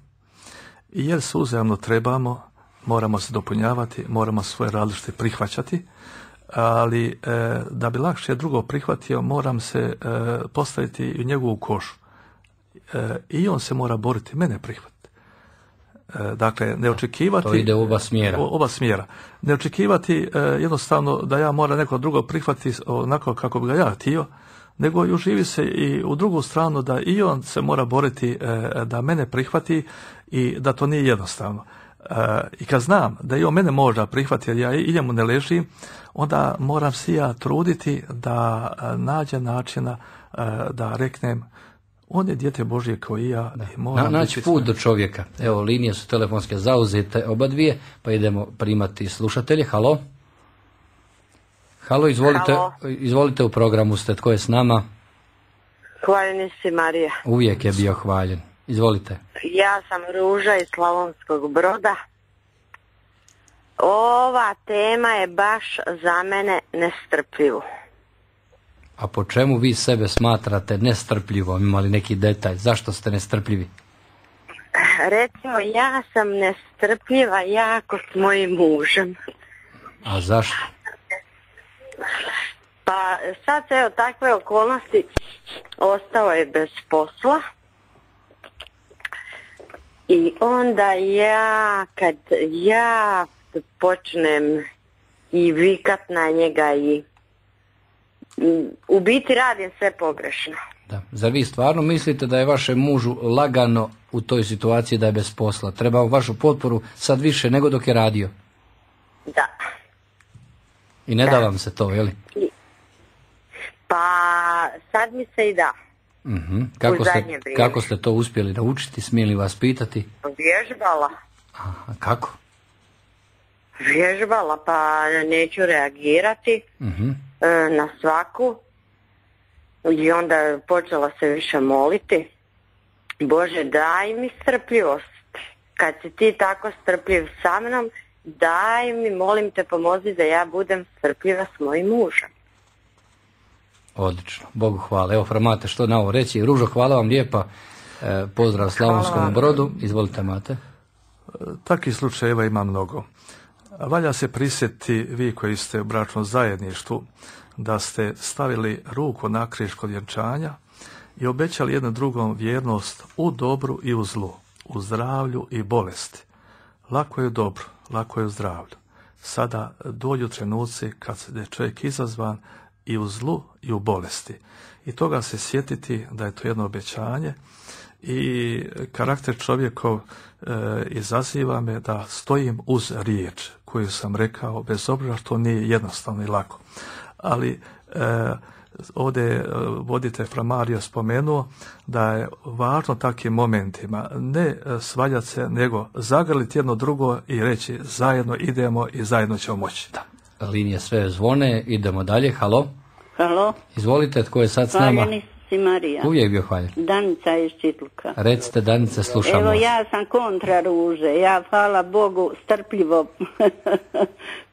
i jer se uzajamno trebamo, moramo se dopunjavati, moramo svoje različite prihvaćati, ali e, da bi lakše drugo prihvatio, moram se e, postaviti u njegovu košu. E, I on se mora boriti, mene prihvatiti. E, dakle, ne očekivati... To ide u oba smjera. O, oba smjera. Ne očekivati e, jednostavno da ja moram neko drugo prihvatiti onako kako bi ga ja htio, nego i uživi se i u drugu stranu da i on se mora boriti e, da mene prihvati i da to nije jednostavno. Uh, i kad znam da i on mene možda prihvati jer ja i njemu ne ležim, onda moram se ja truditi da uh, nađem načina uh, da reknem on je dijete Božje kao i ja. Da. I moram Na, naći put do čovjeka. Evo, linije su telefonske zauzete oba dvije, pa idemo primati slušatelje. Halo? Halo, izvolite, Halo. Izvolite, u programu ste. Tko je s nama? Hvaljeni si, Marija. Uvijek je bio hvaljen. Izvolite. Ja sam Ruža iz Slavonskog Broda. Ova tema je baš za mene nestrpljivo. A po čemu vi sebe smatrate nestrpljivom? Imali neki detalj? Zašto ste nestrpljivi? Recimo, ja sam nestrpljiva jako s mojim mužem. A zašto? Pa sad se evo takve okolnosti, ostao je bez posla. I onda ja, kad ja počnem i vikat na njega i u biti radim sve pogrešno. Da. Zar vi stvarno mislite da je vašem mužu lagano u toj situaciji da je bez posla? Treba vašu potporu sad više nego dok je radio? Da. I ne da. da vam se to, je li? Pa sad mi se i da. Uh-huh. Kako, ste, kako ste to uspjeli naučiti? Smijem li vas pitati? Vježbala. Aha, kako? Vježbala, pa neću reagirati uh-huh. e, na svaku. I onda počela se više moliti. Bože, daj mi strpljivost. Kad si ti tako strpljiv sa mnom, daj mi, molim te, pomozi da ja budem strpljiva s mojim mužem. Odlično, Bogu hvala. Evo, Fra Mate, što na ovo reći? Ružo, hvala vam lijepa. E, pozdrav Slavonskom Brodu. Izvolite, Mate. Takih slučajeva ima mnogo. Valja se prisjetiti, vi koji ste u bračnom zajedništvu, da ste stavili ruku na križ kod vjenčanja i obećali jednom drugom vjernost u dobru i u zlu, u zdravlju i bolesti. Lako je u dobru, lako je u zdravlju. Sada dođu trenuci kad je čovjek izazvan i u zlu i u bolesti. I toga se sjetiti da je to jedno obećanje i karakter čovjekov e, izaziva me da stojim uz riječ koju sam rekao, bez obzira što nije jednostavno i lako. Ali e, ovdje voditelj Fra Mario spomenuo da je važno takvim momentima ne svaljati se, nego zagrliti jedno drugo i reći zajedno idemo i zajedno ćemo moći. Da. Linije sve zvone, idemo dalje. Halo? Halo? Izvolite, tko je sad s nama? Hvaljeni si Marija. Uvijek bio hvaljen. Danica iz Čitluka. Recite, Danice, slušamo. Evo, vas. ja sam kontra Ruže. Ja, hvala Bogu, strpljivo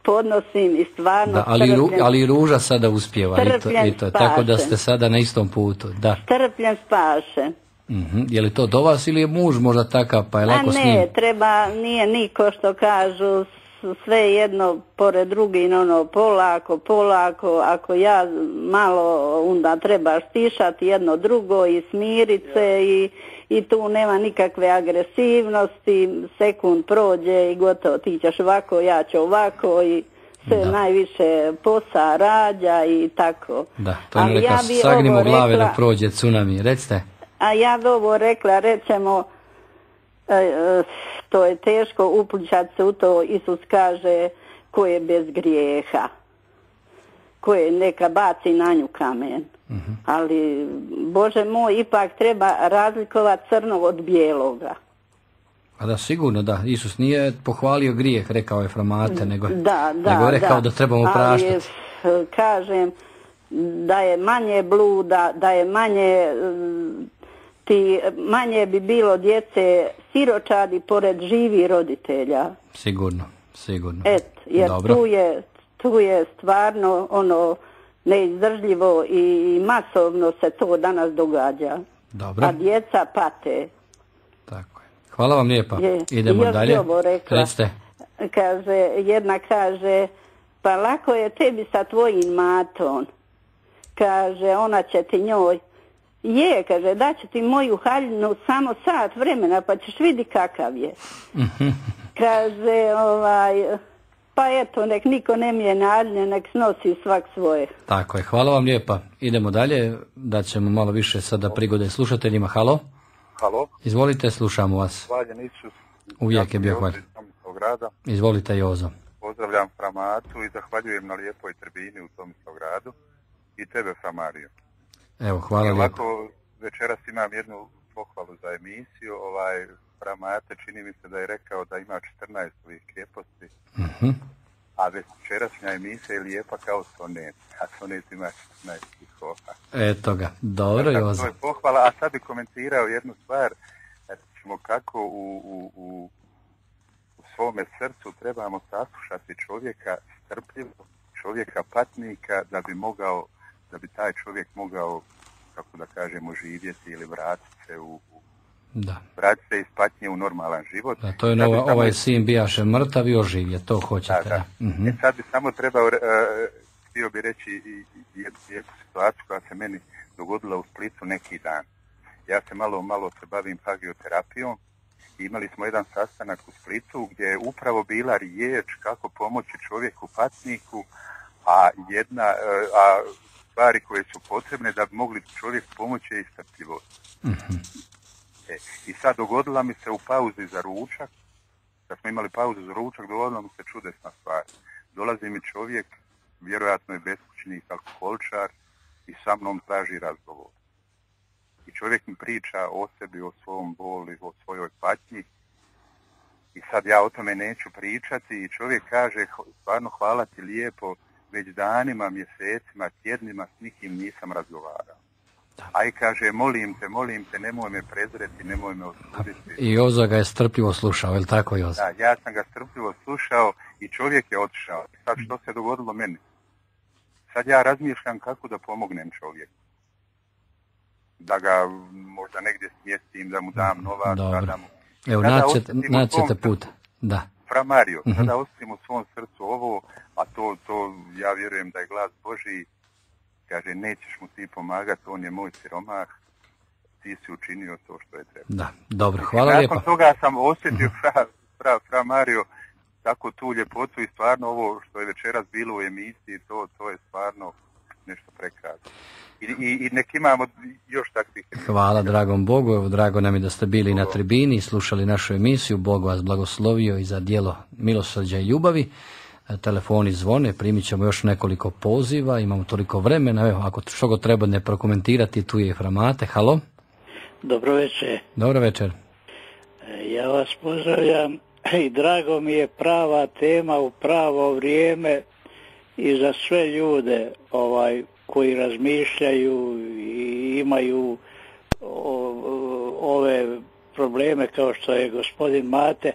podnosim i stvarno Da, ali, ru, strpljen, ali Ruža sada uspjeva i to, Strpljen i to, tako da ste spašen. sada na istom putu. Da. strpljen spaše. Mhm. Je li to do vas ili je muž možda takav pa je A lako s njim? ne, treba, nije niko što kažu, s- sve jedno pored drugi, ono, polako, polako, ako ja malo, onda treba stišati jedno drugo i smirit se i, i tu nema nikakve agresivnosti, sekund prođe i gotovo, ti ćeš ovako, ja ću ovako i sve Da. najviše posa rađa i tako. Da, to je Ali neka ja bi sagnimo ovo glave rekla- da prođe tsunami. Recite. A ja bi ovo rekla, recimo, e, e, to je teško upličati se u to, Isus kaže, ko je bez grijeha, ko je neka baci na nju kamen. Mhm. Ali, Bože moj, ipak treba razlikovati crno od bijeloga. A da, sigurno da. Isus nije pohvalio grijeh, rekao je Fra Mate, nego, Da, da, nego je rekao da, da trebamo Ali, praštati. e, kažem, da je manje bluda, da je manje... mm, ti manje bi bilo djece siročadi pored živih roditelja. Sigurno, sigurno. Et, jer Dobro. tu je, tu je stvarno ono neizdržljivo i masovno se to danas događa. Dobro. A djeca pate. Tako je. Hvala vam lijepa. Je. Idemo Još bi dalje. ovo rekla. Recite. Kaže, jedna kaže, pa lako je tebi sa tvojim matom. Kaže, ona će ti njoj. Je, kaže, daću ti moju haljinu samo sat vremena, pa ćeš vidi kakav je. Kaže, ovaj, pa eto, nek niko ne mijene haljine, nek snosi svak svoje. Tako je. Hvala vam lijepa. Idemo dalje. Da ćemo malo više sada prigode slušateljima. Halo? Halo, Izvolite, slušamo vas. hvaljen Isus. Uvijek je bio Jozo hvaljen. iz Tomislavgrada. Izvolite, Jozo. Pozdravljam Fra Matu i zahvaljujem na lijepoj tribini u Tomislavgradu i tebe, Fra Mario. Evo, hvala I lijepo. ovako večeras imam jednu pohvalu za emisiju. Ovaj, Fra Mate čini mi se da je rekao da ima četrnaest ovih krijeposti, Mhm. a večerašnja emisija je lijepa kao sonet, a sonet ima četrnaest stihova. Eto ga. Dobro, Tako, Jozo. to je pohvala, a sad bi komentirao jednu stvar, recimo kako u, u, u, u svome srcu trebamo saslušati čovjeka strpljivo, čovjeka patnika, da bi mogao, da bi taj čovjek mogao, kako da kažemo, živjeti ili vratiti se u, u Da. vratiti se iz patnje u normalan život. Da, to je Sad bi nova, samo- ovaj sin bijaše mrtav i oživlje, to Da, hoćete. da. Da. Mhm. E sad bi samo trebao, uh, htio bi reći i, i jednu, jednu situaciju koja se meni dogodila u Splitu neki dan. Ja se malo, malo se bavim hagioterapijom i imali smo jedan sastanak u Splitu gdje je upravo bila riječ kako pomoći čovjeku patniku, a jedna, uh, a stvari koje su potrebne da bi mogli čovjek pomoći je i strpljivost. Mhm. E, I sad dogodila mi se u pauzi za ručak, kad smo imali pauzu za ručak, dogodila mi se čudesna stvar. Dolazi mi čovjek, vjerojatno je beskućnik, alkoholčar, i sa mnom traži razgovor. I čovjek mi priča o sebi, o svom boli, o svojoj patnji. I sad ja o tome neću pričati i čovjek kaže, stvarno hvala ti lijepo, već danima, mjesecima, tjednima s nikim nisam razgovarao. Aj kaže, molim te, molim te, nemoj me prezreti, nemoj me osuditi. I Jozo ga je strpljivo slušao, je li tako, Jozo? Da, ja sam ga strpljivo slušao i čovjek je otišao. Sad što se dogodilo meni? sad ja razmišljam kako da pomognem čovjeku. Da ga možda negdje smjestim, da mu dam novac. Da mu... Evo, naćete, naćete puta. Da. Fra Mario, uh-huh. Sada ostavim u svom srcu ovo, a to, to ja vjerujem da je glas Božji, kaže, nećeš mu ti pomagati, on je moj siromah, ti si učinio to što je treba. Da, dobro, hvala Nakon lijepa. Nakon toga sam osjetio, uh-huh. fra, fra, fra Mario, tako tu ljepotu i stvarno ovo što je večeras bilo u emisiji, to, to je stvarno nešto prekrasno. I, i, i nek imamo još takvih. Hvala dragom Bogu, evo drago nam je da ste bili na tribini i slušali našu emisiju. Bog vas blagoslovio i za djelo milosrđa i ljubavi. Telefoni zvone, primit ćemo još nekoliko poziva, imamo toliko vremena, evo ako što god treba ne prokomentirati, tu je Fra Mate. Halo? Dobro večer. Dobro večer. Ja vas pozdravljam i drago mi je prava tema u pravo vrijeme i za sve ljude ovaj koji razmišljaju i imaju o, ove probleme kao što je gospodin Mate.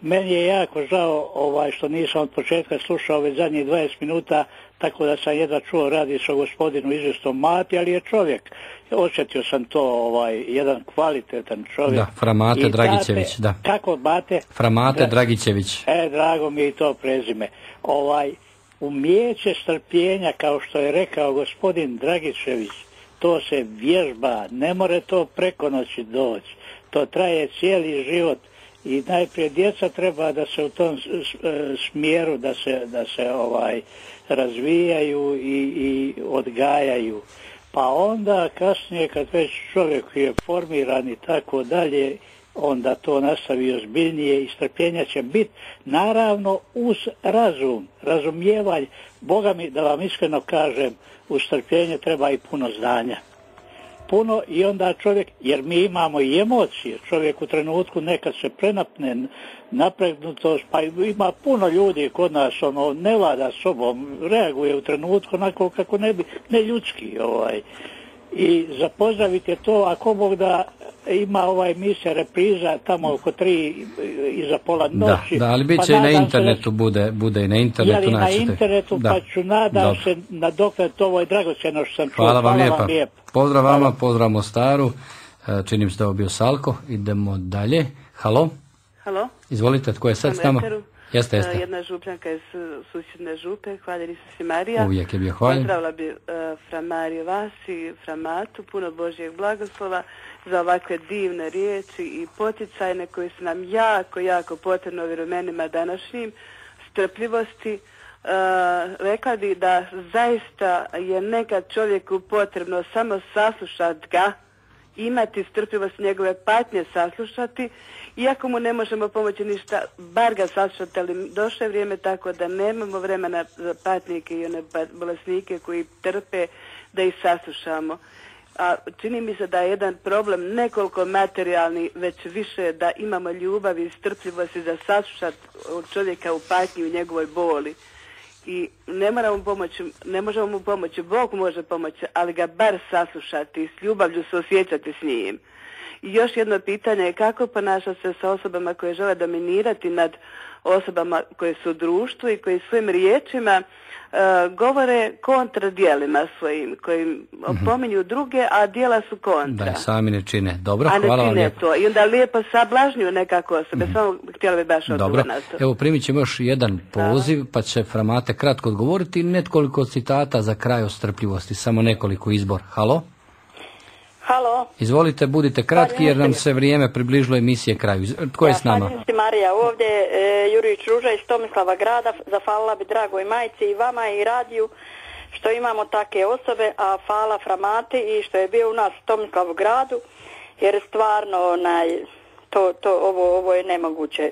Meni je jako žao ovaj, što nisam od početka slušao već zadnjih dvadeset minuta, tako da sam jedva čuo, radi se o gospodinu izvjestom Mati, ali je čovjek. Osjetio sam to, ovaj, jedan kvalitetan čovjek. Da, Fra Mate Dragićević, da. Kako Mate? Fra Mate Dra... Dragićević. E, drago mi je i to prezime. Ovaj, umijeće strpljenja, kao što je rekao gospodin Dragićević, to se vježba, ne more to preko noći doći. To traje cijeli život. I najprije djeca treba da se u tom smjeru da se, da se ovaj razvijaju i, i odgajaju. Pa onda kasnije kad već čovjek je formiran i tako dalje, onda to nastavi ozbiljnije i strpljenja će biti, naravno uz razum, razumijevanje. Boga mi, da vam iskreno kažem, uz strpljenje treba i puno znanja. Puno i onda čovjek, jer mi imamo i emocije, čovjek u trenutku nekad se prenapne napregnutost, pa ima puno ljudi kod nas, ono, ne vlada sobom, reaguje u trenutku onako kako ne bi, ne ljudski, ovaj. I za pozdraviti je to, ako Bog da ima ovaj emisija repriza tamo oko tri iza pola noći. Da, da, ali bit će pa i na internetu, se, bude, bude i na internetu. Jeli naćete. Na internetu, da. Pa ću nadam Dobre. se na dokle to ovo je dragocjeno što sam čuo. Hvala vam lijepa. Vam lijepa. Pozdrav vama, Hvala. Pozdrav Mostaru. Činim se da je bio Salko. Idemo dalje. Halo? Halo? Izvolite, tko je sad s nama? Jeste, jeste. Jedna župljanka iz susjedne župe, hvaljeni se Marija. Uvijek je bio hvaljen. Pozdravila bi uh, Fra Mariju vas i Fra Matu, puno Božjeg blagoslova za ovakve divne riječi i poticajne koje su nam jako, jako potrebno u vremenima današnjim, strpljivosti. Uh, rekla bi da zaista je nekad čovjeku potrebno samo saslušati ga, imati strpljivost njegove patnje saslušati, iako mu ne možemo pomoći ništa, bar ga saslušati, ali došlo je vrijeme tako da nemamo vremena za patnike i one bolesnike koji trpe da ih saslušamo. A čini mi se da je jedan problem nekoliko materijalni, već više da imamo ljubav i strpljivosti za saslušati čovjeka u patnji u njegovoj boli. I ne moramo pomoći, ne možemo mu pomoći, Bog može pomoći, ali ga bar saslušati i s ljubavlju se osjećati s njim. I još jedno pitanje je kako ponašati se sa osobama koje žele dominirati nad osobama koje su u društvu i koji svojim riječima uh, govore kontra djelima svojim, kojim opominju druge, a djela su kontra. Da, sami ne čine. Dobro, a ne hvala čine vam lijepo. To. I onda lijepo sablažnjuju nekako osobe. Mm-hmm. Samo htjela bi baš odgovor na to. Evo primit ćemo još jedan poziv, pa će Fra Mate kratko odgovoriti. Nekoliko citata za kraj o strpljivosti, samo nekoliko izbor. Halo? Halo. Izvolite, budite kratki jer nam se vrijeme približilo emisije kraju. Tko je s nama? Ja, Marija, ovdje e, Jurić Ruža iz Tomislava grada. Zahvalila bi dragoj majci i vama i radiju što imamo take osobe, a hvala Fra Mati i što je bio u nas u Tomislavu gradu, jer stvarno onaj, to, to, ovo, ovo je nemoguće,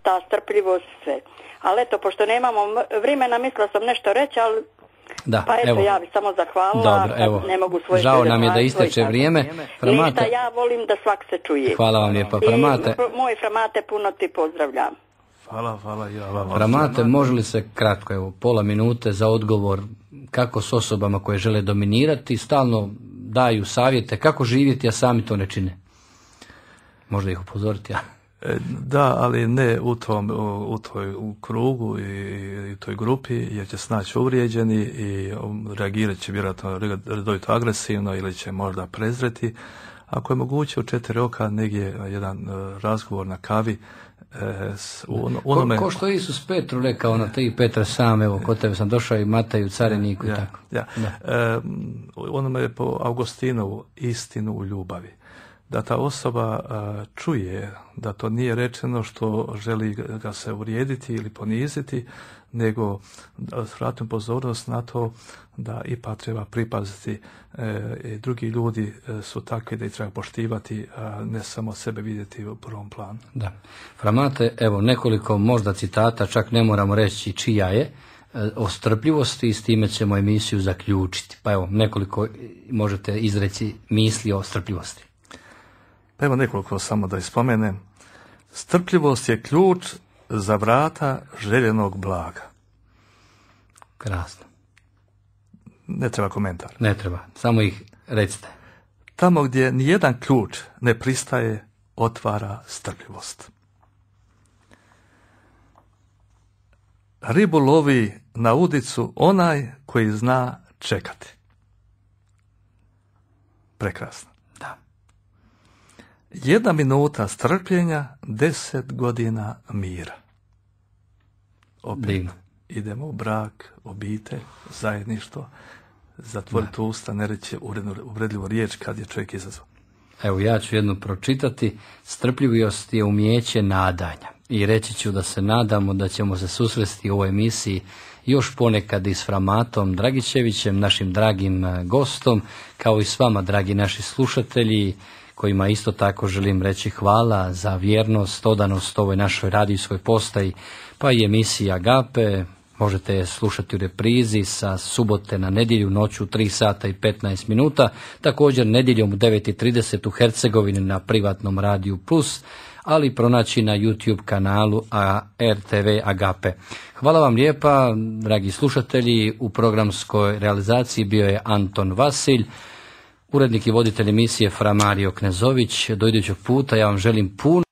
ta strpljivost sve. Ali eto, pošto nemamo vremena, mislila sam nešto reći, ali Da, pa eto, evo. ja bih samo zahvalila. Dobro, evo. Ne mogu svoje Žao nam je da isteče vrijeme. Fra Mate. Ništa, ja volim da svak se čuje. Hvala vam lijepa, Fra Mate. I moj Fra Mate, puno ti pozdravljam. Hvala, hvala ja vam. Fra Mate, može li se kratko, evo, pola minute za odgovor kako s osobama koje žele dominirati, stalno daju savjete kako živjeti, a sami to ne čine. Možda ih upozoriti, ja. Da, ali ne u tom, u, u toj u krugu i, i toj grupi, jer će se naći uvrijeđeni i reagirat će vjerojatno redovito agresivno ili će možda prezreti. Ako je moguće u četiri oka negdje jedan razgovor na kavi, E, u ono, onome... ko, ko što Isus Petru rekao na tri Petra sam, evo kod tebe sam došao i Mataju cariniku ja, i tako. Ja. E, onome je po Augustinovu istinu u ljubavi. Da ta osoba a, čuje da to nije rečeno što želi ga se uvrijediti ili poniziti, nego vratim pozornost na to da ipak treba pripaziti e, i drugi ljudi e, su takvi da ih treba poštivati, a ne samo sebe vidjeti u prvom planu. Da. Framate, evo nekoliko možda citata, čak ne moramo reći čija je, e, o strpljivosti i s time ćemo emisiju zaključiti. Pa evo nekoliko možete izreći misli o strpljivosti. Pa evo nekoliko samo da ispomenem. Strpljivost je ključ za vrata željenog blaga. Krasno. Ne treba komentar. Ne treba, samo ih recite. Tamo gdje nijedan ključ ne pristaje, otvara strpljivost. Ribu lovi na udicu onaj koji zna čekati. Prekrasno. Da. Jedna minuta strpljenja, deset godina mira. Opet Divno. idemo u brak, obitelj, zajedništvo, zatvoriti usta, ne reći uvredljivu riječ kad je čovjek izazvan. Evo ja ću jednu pročitati. Strpljivost je umijeće nadanja. I reći ću da se nadamo da ćemo se susresti u ovoj emisiji još ponekad i s Framatom Dragičevićem, našim dragim gostom, kao i s vama, dragi naši slušatelji, kojima isto tako želim reći hvala za vjernost, odanost ovoj našoj radijskoj postaji, pa i emisiji Agape. Možete je slušati u reprizi sa subote na nedjelju noću tri sata i petnaest minuta, također nedjeljom u devet i trideset u Hercegovini na privatnom radiju Plus, ali pronaći na YouTube kanalu R T V Agape. Hvala vam lijepa, dragi slušatelji. U programskoj realizaciji bio je Anton Vasilj, urednik i voditelj emisije Fra Mario Knezović. Do idućeg puta ja vam želim puno